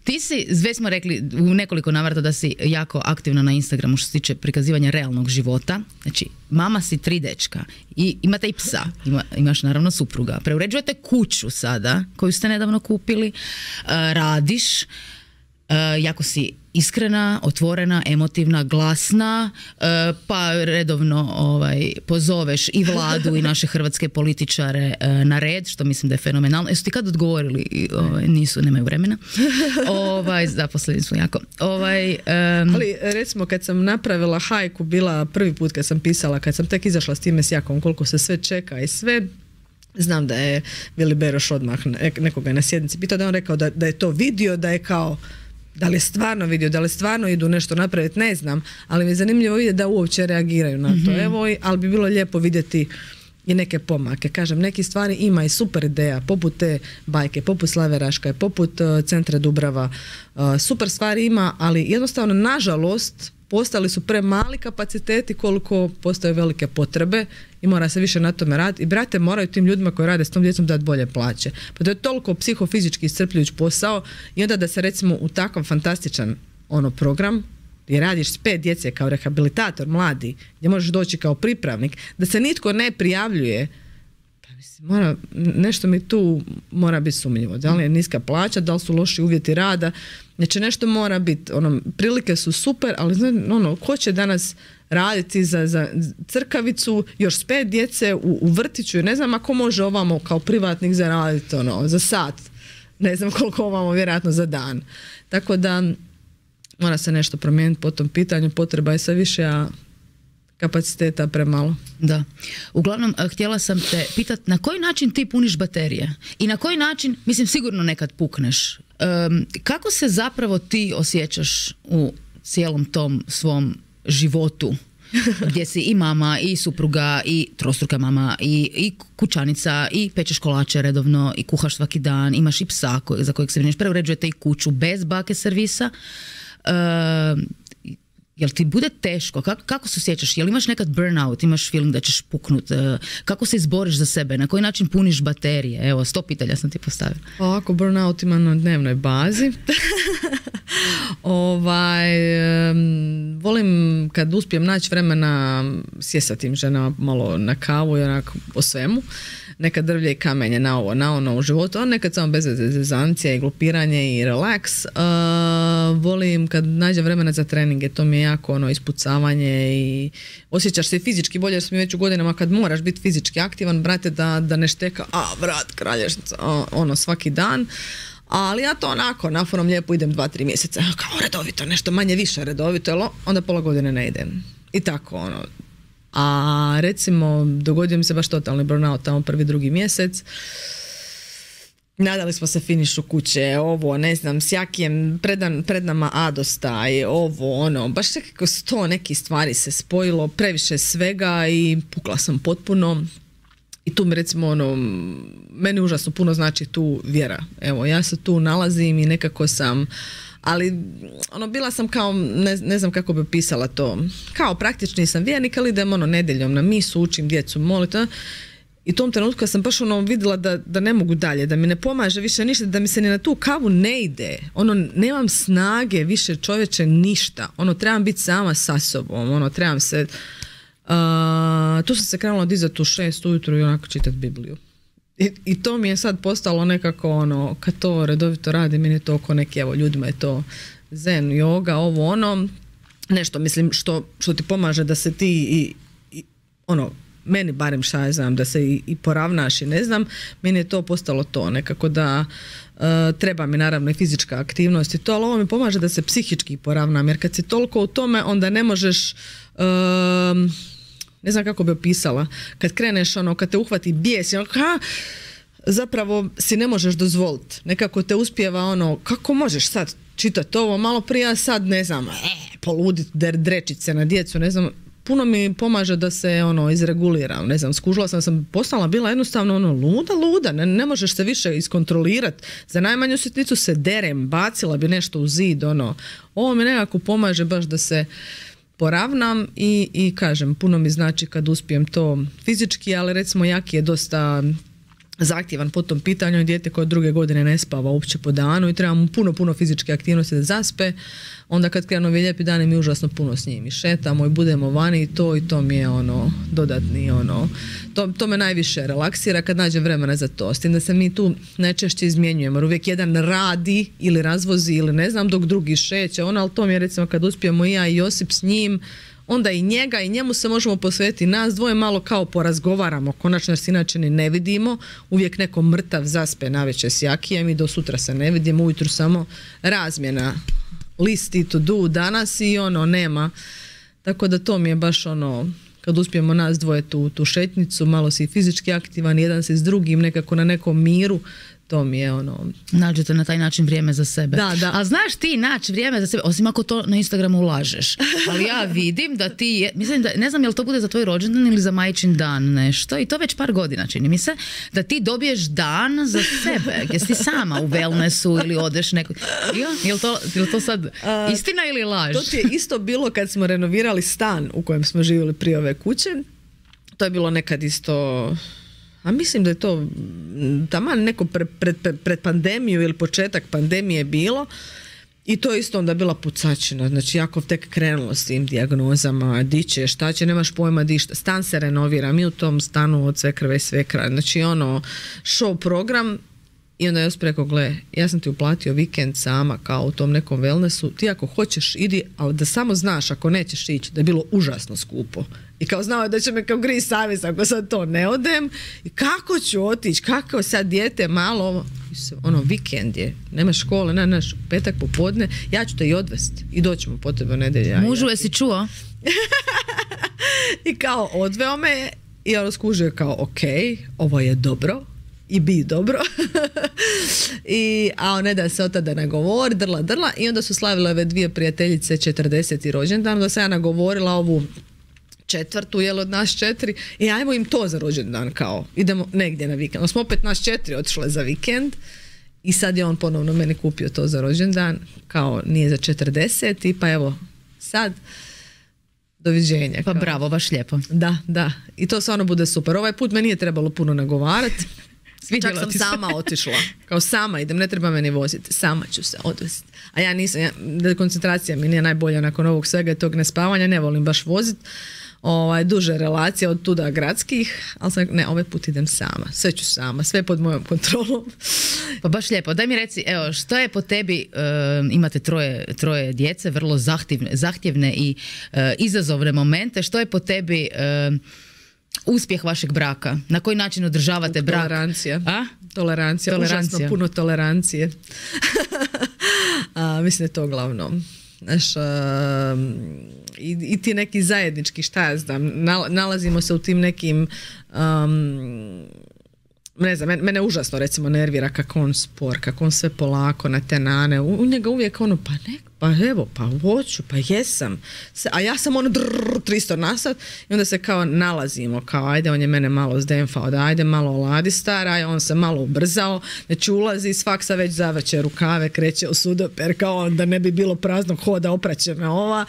Ti si, već smo rekli u nekoliko navrata da si jako aktivna na Instagramu što se tiče prikazivanja realnog života. Znači, mama si 3 dečka i imate i psa, imaš naravno supruga. Preuređujete kuću sada, koju ste nedavno kupili, radiš, jako si iskrena, otvorena, emotivna, glasna, pa redovno pozoveš i vladu i naše hrvatske političare na red, što mislim da je fenomenalno. Jesu ti kad odgovorili? Nisu, nemaju vremena. Zaposleni su jako. Ali recimo kad sam napravila hajku, bila prvi put kad sam pisala, kad sam tek izašla s time s Jakom, koliko se sve čeka i sve, znam da je Vili Beroš odmah nekoga na sjednici pitao, da on rekao da je to vidio, da je kao da li je stvarno vidio, da li stvarno idu nešto napraviti, ne znam, ali mi je zanimljivo vidjeti da uopće reagiraju na to. Evo, ali bi bilo lijepo vidjeti i neke pomake. Kažem, neki stvari ima i super ideja, poput te bajke, poput Slave Raška, poput Centra Dubrava. Super stvari ima, ali jednostavno, nažalost, postali su premali kapaciteti koliko postoje velike potrebe i mora se više na tome raditi. I brate, moraju tim ljudima koji rade s tom djecom dati bolje plaće. Pa to je toliko psihofizički iscrpljujući posao i onda da se recimo u takav fantastičan program gdje radiš s 5 djece kao rehabilitator mladi, gdje možeš doći kao pripravnik, da se nitko ne prijavljuje, pa mislim, nešto mi tu mora biti sumnjivo. Da li je niska plaća, da li su loši uvjeti rada, znači nešto mora biti, prilike su super, ali ko će danas raditi za crkavicu, još s 5 djece u vrtiću, ne znam ako može ovamo kao privatnik zaraditi za sat, ne znam koliko ovamo, vjerojatno za dan. Tako da mora se nešto promijeniti po tom pitanju, potreba je sve više, a kapaciteta premalo. Da. Uglavnom, htjela sam te pitati na koji način ti puniš baterije i na koji način, mislim, sigurno nekad pukneš. Kako se zapravo ti osjećaš u cijelom tom svom životu gdje si i mama i supruga i trostruka mama i kućanica i pečeš kolače redovno i kuhaš svaki dan, imaš i psa za kojeg se brineš, preuređujete i kuću bez bake servisa. Jel ti bude teško? Kako se osjećaš? Jel imaš nekad burnout? Imaš film da ćeš puknut? Kako se izboriš za sebe? Na koji način puniš baterije? Evo, 100 pitanja sam ti postavila. Ovako, burnout ima na dnevnoj bazi. Volim kad uspijem naći vremena sjest sa tim ženama malo na kavu i onako o svemu. Nekad drvlje i kamenje na ovo, na ono u životu, a nekad samo bez zezancija i glupiranje i relaks. Volim kad nađem vremena za treninge, to mi je jako ispucavanje i osjećaš se fizički bolje, jer smo već u godinama kad moraš biti fizički aktivan, brate, da ne šteka, brat, kralješnica, svaki dan. Ali ja to onako, naforom lijepo idem 2-3 mjeseca, kao redovito, nešto manje više redovito, onda pola godine ne idem. I tako, A recimo, dogodio mi se baš totalni burnout tamo 1-2 mjesec. Nadali smo se finišu kuće, ne znam, s Jakijem pred nama Adosta i baš nekako 100 nekih stvari se spojilo, previše svega i pukla sam potpuno. I tu mi recimo ono, meni užasno puno znači tu vjera. Evo, ja se tu nalazim i nekako sam, ali ono, bila sam kao, ne znam kako bi opisala to, kao praktični sam vjernik, ali idem ono nedjeljom na misu, učim djecu moliti. I u tom trenutku sam baš ono vidjela da ne mogu dalje, da mi ne pomaže više ništa, da mi se ni na tu kavu ne ide. Ono, nemam snage više, čovječe, ništa. Ono, trebam biti sama sa sobom, ono, trebam se... tu sam se krenula dizati u 6 ujutro i onako čitati Bibliju. I to mi je sad postalo nekako ono, kad to redovito radi, meni je to oko neki, evo, ljudima je to zen, yoga, ovo ono, nešto, mislim, što ti pomaže da se ti i ono, meni barem šta ja znam, da se i poravnaš i ne znam, meni je to postalo to nekako da treba mi naravno i fizička aktivnost i to, ali ovo mi pomaže da se psihički poravnam, jer kad si toliko u tome, onda ne možeš, ne znam kako bi opisala, kad kreneš ono, kad te uhvati bijes, ono, zapravo si ne možeš dozvoliti, nekako te uspijeva ono, kako možeš sad čitati ovo, malo prije, sad ne znam, poludit, drečić se na djecu, ne znam, puno mi pomaže da se ono izreguliram, ne znam, skužila sam postala bila jednostavno ono luda, ne možeš se više iskontrolirati, za najmanju sitnicu se derem, bacila bi nešto u zid, ono, ovo mi nekako pomaže baš da se poravnam i kažem, puno mi znači kad uspijem to fizički, ali recimo Jaki je dosta zahtjevan po tom pitanju i dijete koje 2 godine ne spava uopće po danu i treba mu puno fizičke aktivnosti da zaspe. Onda kad krenu ovi lijepi dani mi užasno puno s njim i šetamo i budemo vani i to mi je ono dodatni ono, to me najviše relaksira kad nađe vremena za to. S tim da se mi tu najčešće izmjenjujemo, jer uvijek jedan radi ili razvozi ili ne znam dok drugi šeće, ali to mi je recimo kad uspijemo i ja i Josip s njim, onda i njega i njemu se možemo posvetiti, nas dvoje malo kao porazgovaramo, konačno se inače ni ne vidimo, uvijek neko mrtav zaspe navečer s Jakijem i do sutra se ne vidimo, ujutro samo razmjena listi to do danas i ono nema, tako da to mi je baš ono, kad uspijemo nas dvoje tu šetnicu, malo si fizički aktivan, jedan si s drugim nekako na nekom miru, to mi je ono... Nađete na taj način vrijeme za sebe. Da. A znaš ti naći vrijeme za sebe, osim ako to na Instagramu ulažeš. Ali ja vidim da ti, mislim da, ne znam je li to bude za tvoj rođendan ili za majčin dan nešto, i to već par godina čini mi se, da ti dobiješ dan za sebe, gdje si sama u wellnessu ili odeš neko... Je li to sad istina ili laž? To ti je isto bilo kad smo renovirali stan u kojem smo živjeli prije ove kuće. To je bilo nekad isto... A mislim da je to taman neko pred pandemiju ili početak pandemije bilo i to je isto onda bila pucačina, znači jako tek krenulo s tim dijagnozama, di će, šta će, nemaš pojma di šta, stan se renovira, mi u tom stanu od sve krve i sve kraja, znači ono show program i onda Josip rekao, gle, ja sam ti uplatio vikend sama kao u tom nekom wellnessu, ti ako hoćeš idi, ali da samo znaš ako nećeš ići, da je bilo užasno skupo. I kao znao je da će me kao gri savjest ako sad to ne odem. I kako ću otići, kako sad dijete malo, ono vikend je, nema škole, naš petak popodne, ja ću te i odvesti i doćemo po tebe u nedjelju. Mužu, jesi čuo? I kao odveo me i ono skužio kao ok, ovo je dobro. I bi dobro. A ne da se od tada nagovori, drla. I onda su slavile ove 2 prijateljice 40. rođendan, da sam ja nagovorila ovu 4. od nas 4 i ajmo im to za rođendan kao, idemo negdje na vikend. Smo opet nas 4 otišle za vikend i sad je on ponovno meni kupio to za rođendan, kao nije za 40 pa evo sad doviđenja. Pa bravo, baš lijepo. Da. I to stvarno bude super. Ovaj put me nije trebalo puno nagovarati. Čak sam sama otišla. Kao sama idem, ne treba me ni voziti. Sama ću se odvesti. A ja nisam, koncentracija mi nije najbolja nakon ovog svega i tog nespavanja. Ne volim baš voziti. Duže relacije od tuda gradskih. Ali sam, ne, ovaj put idem sama. Sve ću sama. Sve pod mojom kontrolom. Pa baš lijepo. Daj mi reci, evo, što je po tebi, imate troje djece, vrlo zahtjevne i izazovne momente. Što je po tebi... uspjeh vašeg braka? Na koji način održavate brak? Tolerancija. Užasno puno tolerancije. Mislim da je to glavno. Znaš, i ti neki zajednički, šta ja znam, nalazimo se u tim nekim ne znam, mene užasno recimo nervira kako on spor, kako on sve polako na te nane, u njega uvijek ono, pa pa evo, pa hoću, pa jesam. A ja sam 300 na sat i onda se kao nalazimo, kao ajde, on je mene malo zdemfao, da ajde malo oladi stara, on se malo ubrzao, znači ulazi iz faksa, već zavrće rukave, kreće u sudoper, kao da ne bi bilo praznog hoda, opraće me ova.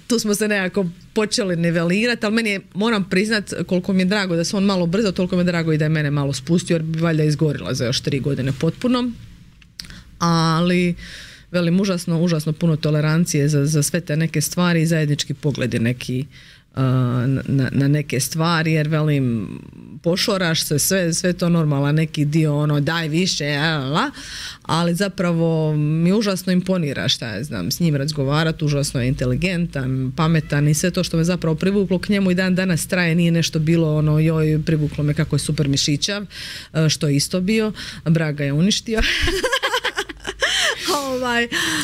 Tu smo se nekako počeli nivelirati, ali meni je, moram priznat, koliko mi je drago da se on malo brzao, toliko mi je drago i da je mene malo spustio, jer bi valjda izgorila za još 3 godine potpuno. Ali velim, užasno puno tolerancije za sve te neke stvari i zajednički pogledi neki na neke stvari, jer velim, pošoraš se, sve to normalno, neki dio daj više, ali zapravo mi užasno imponira, šta ja znam, s njim razgovarati, užasno je inteligentan, pametan i sve to što me zapravo privuklo k njemu i dan danas traje, nije nešto bilo joj, privuklo me kako je super mišićav, što je isto bio, Braga je uništio.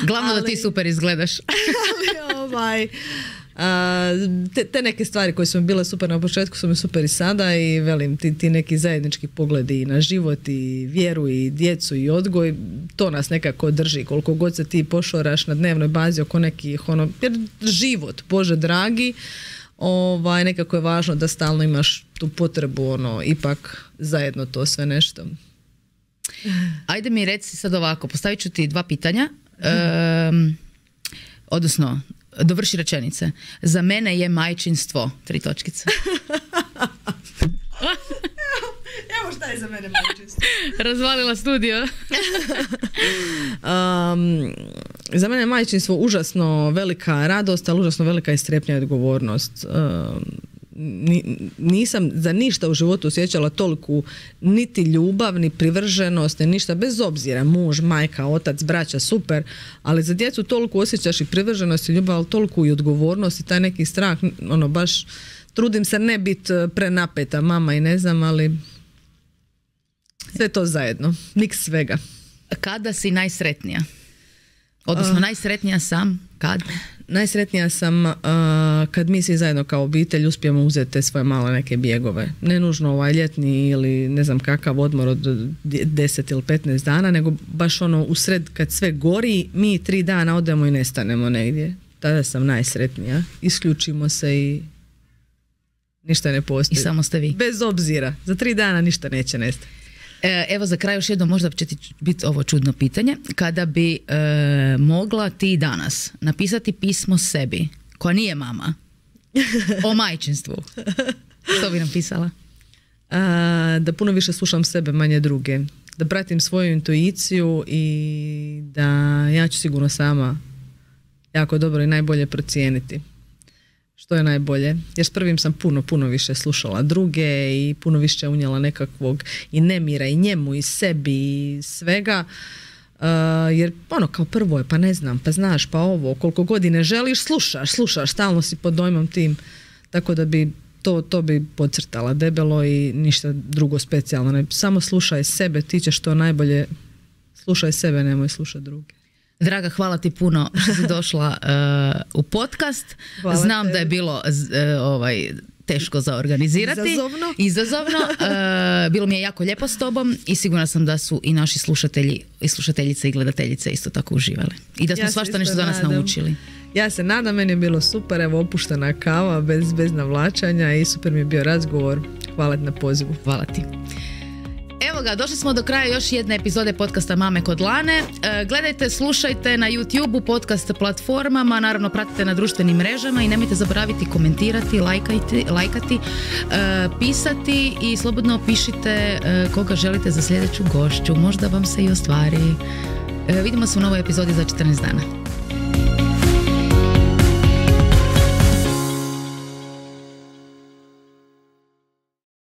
Glavno da ti super izgledaš. Te neke stvari koje su mi bile super na početku su mi super i sada i velim, ti neki zajednički pogledi na život i vjeru i djecu i odgoj, to nas nekako drži, koliko god se ti pošoraš na dnevnoj bazi oko nekih jer život, Bože dragi, nekako je važno da stalno imaš tu potrebu ipak zajedno to sve nešto. Ajde mi reci sad ovako, postavit ću ti 2 pitanja, odnosno dovrši rečenice. Za mene je majčinstvo 3 točkice. Evo šta je za mene majčinstvo. Razvalila studio. Za mene je majčinstvo užasno velika radost, ali užasno velika i strepnja i odgovornost. Nisam za ništa u životu osjećala toliku niti ljubav, ni privrženost, ni ništa, bez obzira, muž, majka, otac, braća, super, ali za djecu toliko osjećaš i privrženost i ljubav, ali toliko i odgovornost i taj neki strah, baš trudim se ne biti prenapeta mama i ne znam, ali sve to zajedno, niks svega. Kada si najsretnija? Odnosno najsretnija sam kad? Najsretnija sam kad mi svi zajedno kao obitelj uspijemo uzeti te svoje male neke bjegove. Ne nužno ljetni ili ne znam kakav odmor od 10 ili 15 dana, nego baš usred kad sve gori, mi 3 dana odemo i nestanemo negdje. Tada sam najsretnija. Isključimo se i ništa ne postoji. I samo ste vi. Bez obzira. Za 3 dana ništa neće nestati. Evo za kraj još jedno, možda će ti biti ovo čudno pitanje. Kada bi mogla ti danas napisati pismo sebi, koja nije mama, o majčinstvu, što bi napisala? Da puno više slušam sebe, manje druge. Da pratim svoju intuiciju i da ja ću sigurno sama jako dobro i najbolje procijeniti što je najbolje. Jer s prvim sam puno više slušala druge i puno više unijela nekakvog i nemira i njemu i sebi i svega. Jer kao prvo je, pa ne znam, pa znaš, pa ovo, koliko godine želiš, slušaš, stalno si pod dojmom tim. Tako da bi to bi podcrtala debelo i ništa drugo specijalno. Ne, samo slušaj sebe, ti ćeš to najbolje, slušaj sebe, nemoj slušati druge. Draga, hvala ti puno što si došla u podcast. Hvala Znam tebi. da je bilo teško za organizirati. Izazovno. Bilo mi je jako lijepo s tobom i sigurna sam da su i naši slušatelji i slušateljice i gledateljice isto tako uživali. I da smo svašta nešto danas naučili. Ja se nadam, meni je bilo super, evo opuštena kava, bez navlačanja i super mi je bio razgovor. Hvala ti na pozivu. Hvala ti. Evo ga, došli smo do kraja još jedne epizode podcasta Mame kod Lane. Gledajte, slušajte na YouTube-u, podcast platformama, naravno pratite na društvenim mrežama i nemojte zaboraviti komentirati, lajkati, pisati i slobodno pišite koga želite za sljedeću gošću. Možda vam se i ostvari. Vidimo se u novoj epizodi za 14 dana.